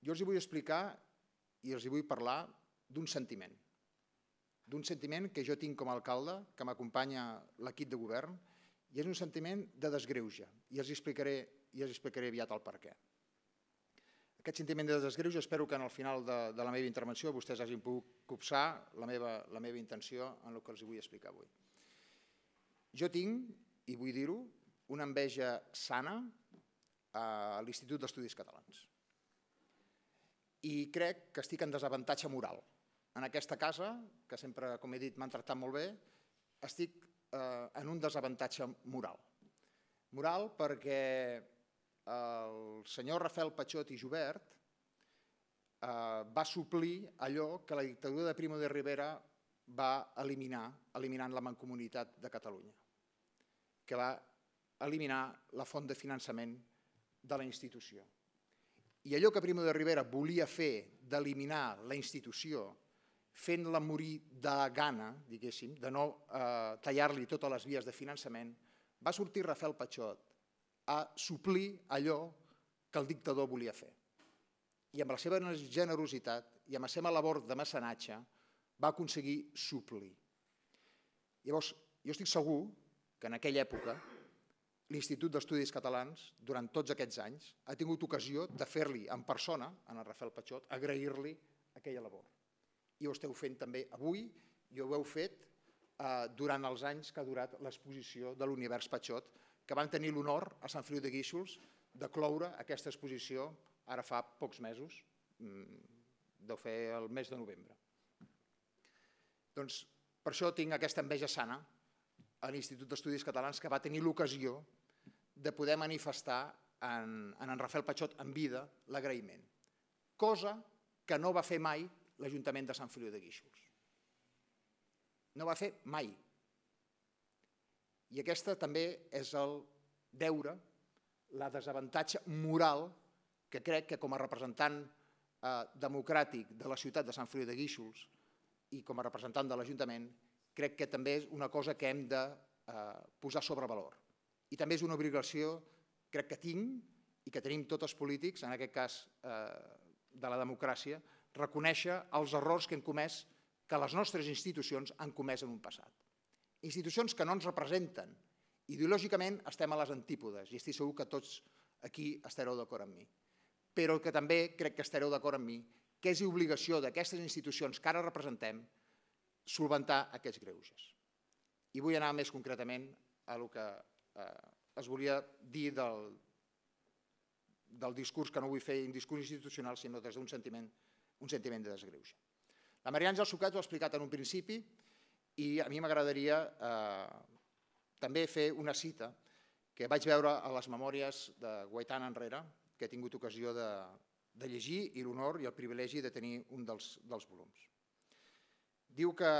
Speaker 5: Jo els vull explicar i els vull parlar d'un sentiment, d'un sentiment que jo tinc com a alcalde, que m'acompanya l'equip de govern, i és un sentiment de desgreuge, i els explicaré aviat el perquè. Aquest sentiment de desgreuge espero que al final de la meva intervenció vostès hagin pogut copsar la meva intenció en el que els vull explicar avui. Jo tinc, i vull dir-ho, una enveja sana a l'Institut d'Estudis Catalans. I crec que estic en desavantatge moral. En aquesta casa, que sempre, com he dit, m'han tractat molt bé, estic en un desavantatge moral. Moral perquè el senyor Rafael Patxot i Jubert va suplir allò que la dictadura de Primo de Rivera va eliminar, eliminant la Mancomunitat de Catalunya, que va eliminar la font de finançament de la institució. I allò que Primo de Rivera volia fer d'eliminar la institució, fent-la morir de gana, diguéssim, de no tallar-li totes les vies de finançament, va sortir Rafael Patxot a suplir allò que el dictador volia fer. I amb la seva generositat i amb la seva labor de mecenatge va aconseguir suplir. Llavors, jo estic segur que en aquella època l'Institut d'Estudis Catalans, durant tots aquests anys, ha tingut ocasió de fer-li en persona, a Rafael Patxot, agrair-li aquella labor. I ho esteu fent també avui, i ho heu fet durant els anys que ha durat l'exposició de l'Univers Patxot, que van tenir l'honor a Sant Feliu de Guíxols de cloure aquesta exposició ara fa pocs mesos, deu fer el mes de novembre. Doncs per això tinc aquesta enveja sana a l'Institut d'Estudis Catalans que va tenir l'ocasió de poder manifestar en en Rafael Patxot en vida l'agraïment, cosa que no va fer mai l'Ajuntament de Sant Feliu de Guíxols. No va fer mai. I aquesta també és el deure, la desavantatge moral que crec que com a representant democràtic de la ciutat de Sant Feliu de Guíxols i com a representant de l'Ajuntament, crec que també és una cosa que hem de posar sobre valor. I també és una obligació, crec que tinc i que tenim tots els polítics, en aquest cas de la democràcia, reconèixer els errors que hem comès, que les nostres institucions han comès en un passat. Institucions que no ens representen. Ideològicament estem a les antípodes i estic segur que tots aquí estareu d'acord amb mi. Però que també crec que estareu d'acord amb mi que és obligació d'aquestes institucions que ara representem solventar aquests greuges. I vull anar més concretament a el que es volia dir del discurs, que no vull fer un discurs institucional, sinó des d'un sentiment de desgreuge. La Maria Àngels Suquet ho ha explicat en un principi i a mi m'agradaria també fer una cita que vaig veure a les memòries de Guaitan Enrere, que he tingut ocasió de llegir i l'honor i el privilegi de tenir un dels volums. Diu que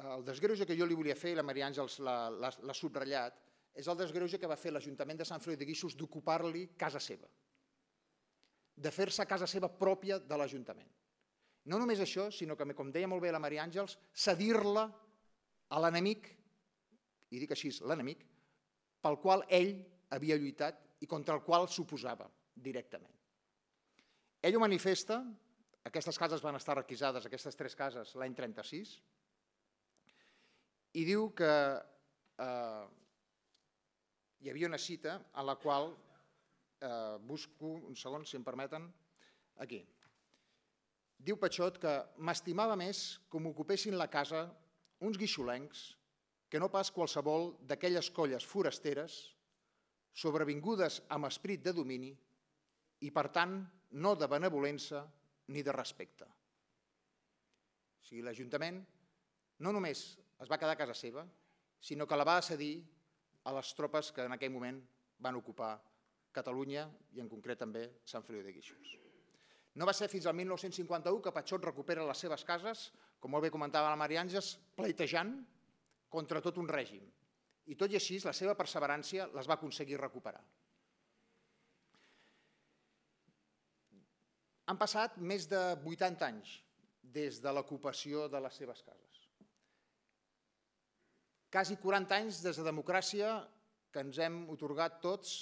Speaker 5: el desgreuge que jo li volia fer, i la Maria Àngels l'ha subratllat, és el desgreuge que va fer l'Ajuntament de Sant Feliu de Guíxols d'ocupar-li casa seva, de fer-se casa seva pròpia de l'Ajuntament. No només això, sinó que, com deia molt bé la Maria Àngels, cedir-la a l'enemic, i dic així, l'enemic, pel qual ell havia lluitat i contra el qual s'oposava directament. Ell ho manifesta, aquestes cases van estar requisades, aquestes tres cases, l'any trenta-sis, i diu que hi havia una cita en la qual, busco un segon, si em permeten, aquí. Diu Patxot que m'estimava més que m'ocupessin la casa uns guixolencs que no pas qualsevol d'aquelles colles forasteres sobrevingudes amb esprit de domini i, per tant, no de benevolença ni de respecte. sigui, l'Ajuntament no només es va quedar a casa seva, sinó que la va cedir a les tropes que en aquell moment van ocupar Catalunya i en concret també Sant Feliu de Guíxols. No va ser fins al mil nou-cents cinquanta-u que Patxot recupera les seves cases, com molt bé comentava la Maria Àngels, pleitejant contra tot un règim. I tot i així, la seva perseverància les va aconseguir recuperar. Han passat més de vuitanta anys des de l'ocupació de les seves cases. Quasi quaranta anys des de democràcia que ens hem atorgat tots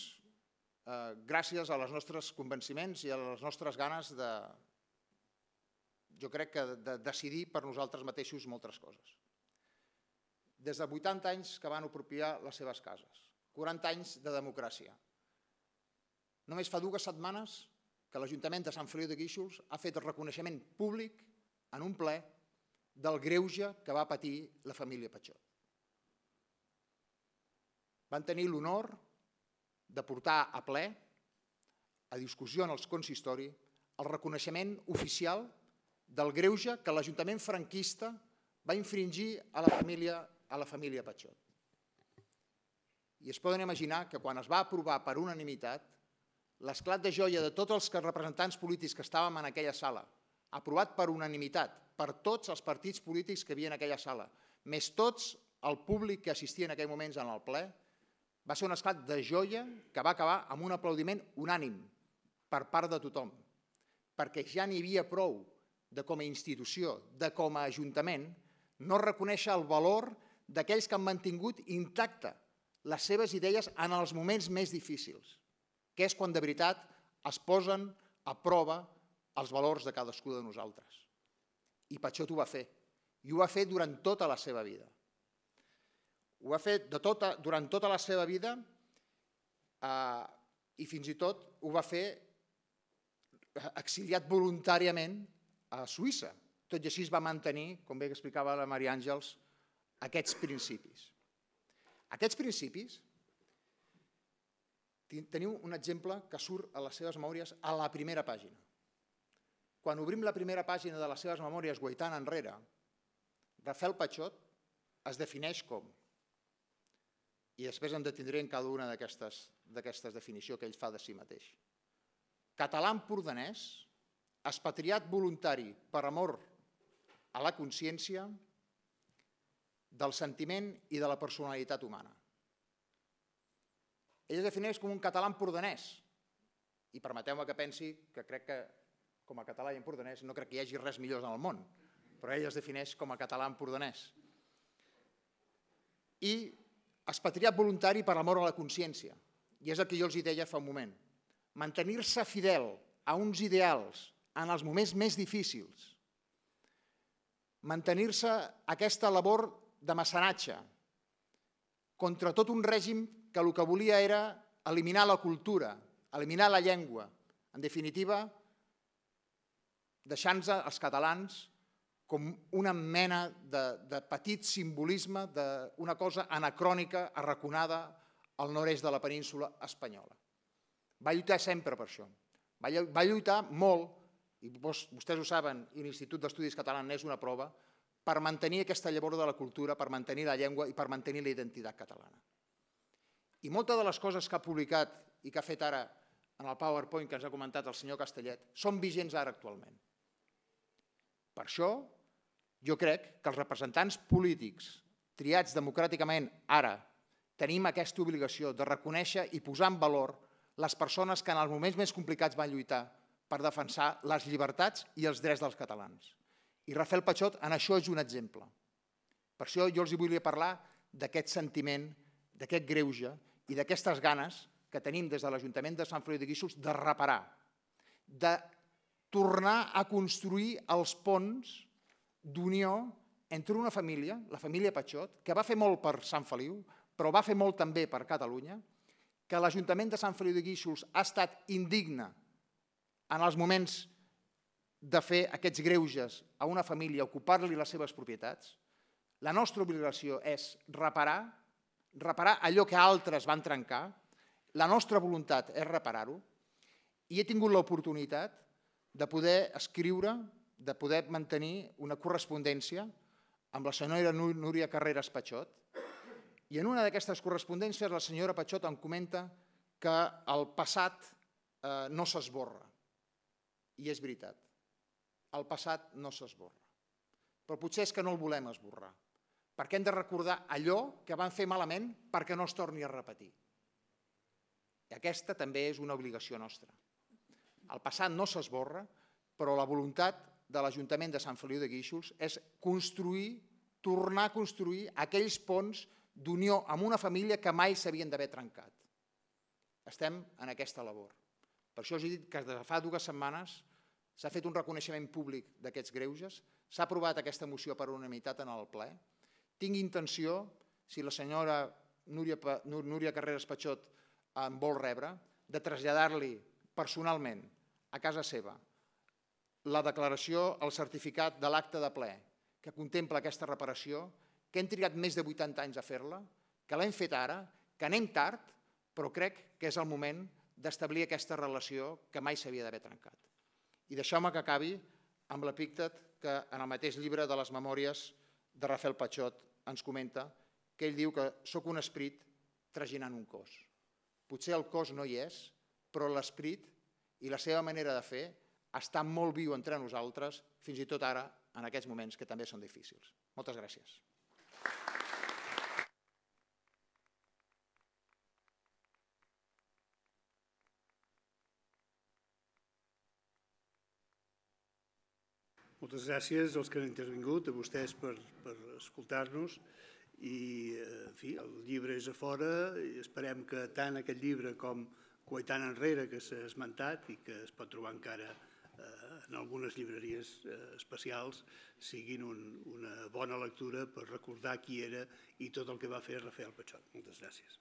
Speaker 5: gràcies als nostres convenciments i a les nostres ganes de, jo crec que de decidir per nosaltres mateixos moltes coses. Des de vuitanta anys que van apropiar les seves cases, quaranta anys de democràcia. Només fa dues setmanes que l'Ajuntament de Sant Feliu de Guíxols ha fet el reconeixement públic en un ple del greuge que va patir la família Patxot. Van tenir l'honor de portar a ple, a discussió en els consistori, el reconeixement oficial del greuge que l'Ajuntament franquista va infringir a la família, a la família Patxot. I es poden imaginar que quan es va aprovar per unanimitat, l'esclat de joia de tots els representants polítics que estàvem en aquella sala, aprovat per unanimitat, per tots els partits polítics que hi havia en aquella sala, més tots el públic que assistia en aquells moments en el ple, va ser un esclat de joia que va acabar amb un aplaudiment unànim per part de tothom, perquè ja n'hi havia prou de com a institució, de com a ajuntament, no reconèixer el valor d'aquells que han mantingut intacte les seves idees en els moments més difícils, que és quan de veritat es posen a prova els valors de cadascú de nosaltres. I Patxot ho va fer, i ho va fer durant tota la seva vida. Ho va fer durant tota la seva vida i fins i tot ho va fer exiliat voluntàriament a Suïssa. Tot i així es va mantenir, com bé explicava la Maria Àngels, aquests principis. Aquests principis, teniu un exemple que surt a les seves memòries a la primera pàgina. Quan obrim la primera pàgina de les seves memòries guaitant enrere, Rafael Patxot es defineix com, i després em detindré en cada una d'aquestes definicions que ell fa de si mateix. Català empordanès, expatriat voluntari per amor a la consciència, del sentiment i de la personalitat humana. Ell es defineix com un català empordanès, i permeteu-me que pensi que crec que com a català i empordanès no crec que hi hagi res millor en el món, però ell es defineix com a català empordanès. I expatriat voluntari per amor a la consciència, i és el que jo els deia fa un moment. Mantenir-se fidel a uns ideals en els moments més difícils, mantenir-se aquesta labor de mecenatge contra tot un règim que el que volia era eliminar la cultura, eliminar la llengua, en definitiva, deixant-nos els catalans com una mena de petit simbolisme d'una cosa anacrònica arraconada al nord-est de la península espanyola. Va lluitar sempre per això. Va lluitar molt, i vostès ho saben, i l'Institut d'Estudis Catalans n'és una prova, per mantenir aquesta llavor de la cultura, per mantenir la llengua i per mantenir la identitat catalana. I moltes de les coses que ha publicat i que ha fet ara en el PowerPoint que ens ha comentat el senyor Castellet són vigents ara actualment. Per això, jo crec que els representants polítics triats democràticament ara tenim aquesta obligació de reconèixer i posar en valor les persones que en els moments més complicats van lluitar per defensar les llibertats i els drets dels catalans. I Rafael Patxot en això és un exemple. Per això jo els volia parlar d'aquest sentiment, d'aquest greuge i d'aquestes ganes que tenim des de l'Ajuntament de Sant Feliu de Guíxols de reparar, de tornar a construir els ponts d'unió entre una família, la família Patxot, que va fer molt per Sant Feliu, però va fer molt també per Catalunya, que l'Ajuntament de Sant Feliu de Guíxols ha estat indigne en els moments de fer aquests greuges a una família, ocupar-li les seves propietats. La nostra obligació és reparar, reparar allò que altres van trencar, la nostra voluntat és reparar-ho, i he tingut l'oportunitat de poder escriure, de poder mantenir una correspondència amb la senyora Núria Carreras Pachot, i en una d'aquestes correspondències la senyora Pachot em comenta que el passat no s'esborra. I és veritat, el passat no s'esborra. Però potser és que no el volem esborrar, perquè hem de recordar allò que vam fer malament perquè no es torni a repetir. I aquesta també és una obligació nostra. El passat no s'esborra, però la voluntat de l'Ajuntament de Sant Feliu de Guíxols és construir, tornar a construir aquells ponts d'unió amb una família que mai s'havien d'haver trencat. Estem en aquesta labor. Per això us he dit que des de fa dues setmanes s'ha fet un reconeixement públic d'aquests greuges, s'ha aprovat aquesta moció per unanimitat en el ple. Tinc intenció, si la senyora Núria Carreras Pachot em vol rebre, de traslladar-li personalment a casa seva la declaració, el certificat de l'acte de ple que contempla aquesta reparació, que hem trigat més de vuitanta anys a fer-la, que l'hem fet ara, que anem tard, però crec que és el moment d'establir aquesta relació que mai s'havia d'haver trencat. I deixeu-me que acabi amb l'epíctet que en el mateix llibre de les memòries de Rafael Pachot ens comenta, que ell diu que soc un esperit traginant un cos. Potser el cos no hi és, però l'esperit i la seva manera de fer està molt viu entre nosaltres, fins i tot ara, en aquests moments que també són difícils. Moltes gràcies.
Speaker 1: Moltes gràcies als que han intervingut, a vostès per escoltar-nos. I, en fi, el llibre és a fora i esperem que tant aquest llibre com Coetant enrere, que s'ha esmentat i que es pot trobar encara en algunes llibreries especials, siguin una bona lectura per recordar qui era i tot el que va fer Rafael Pachot. Moltes gràcies.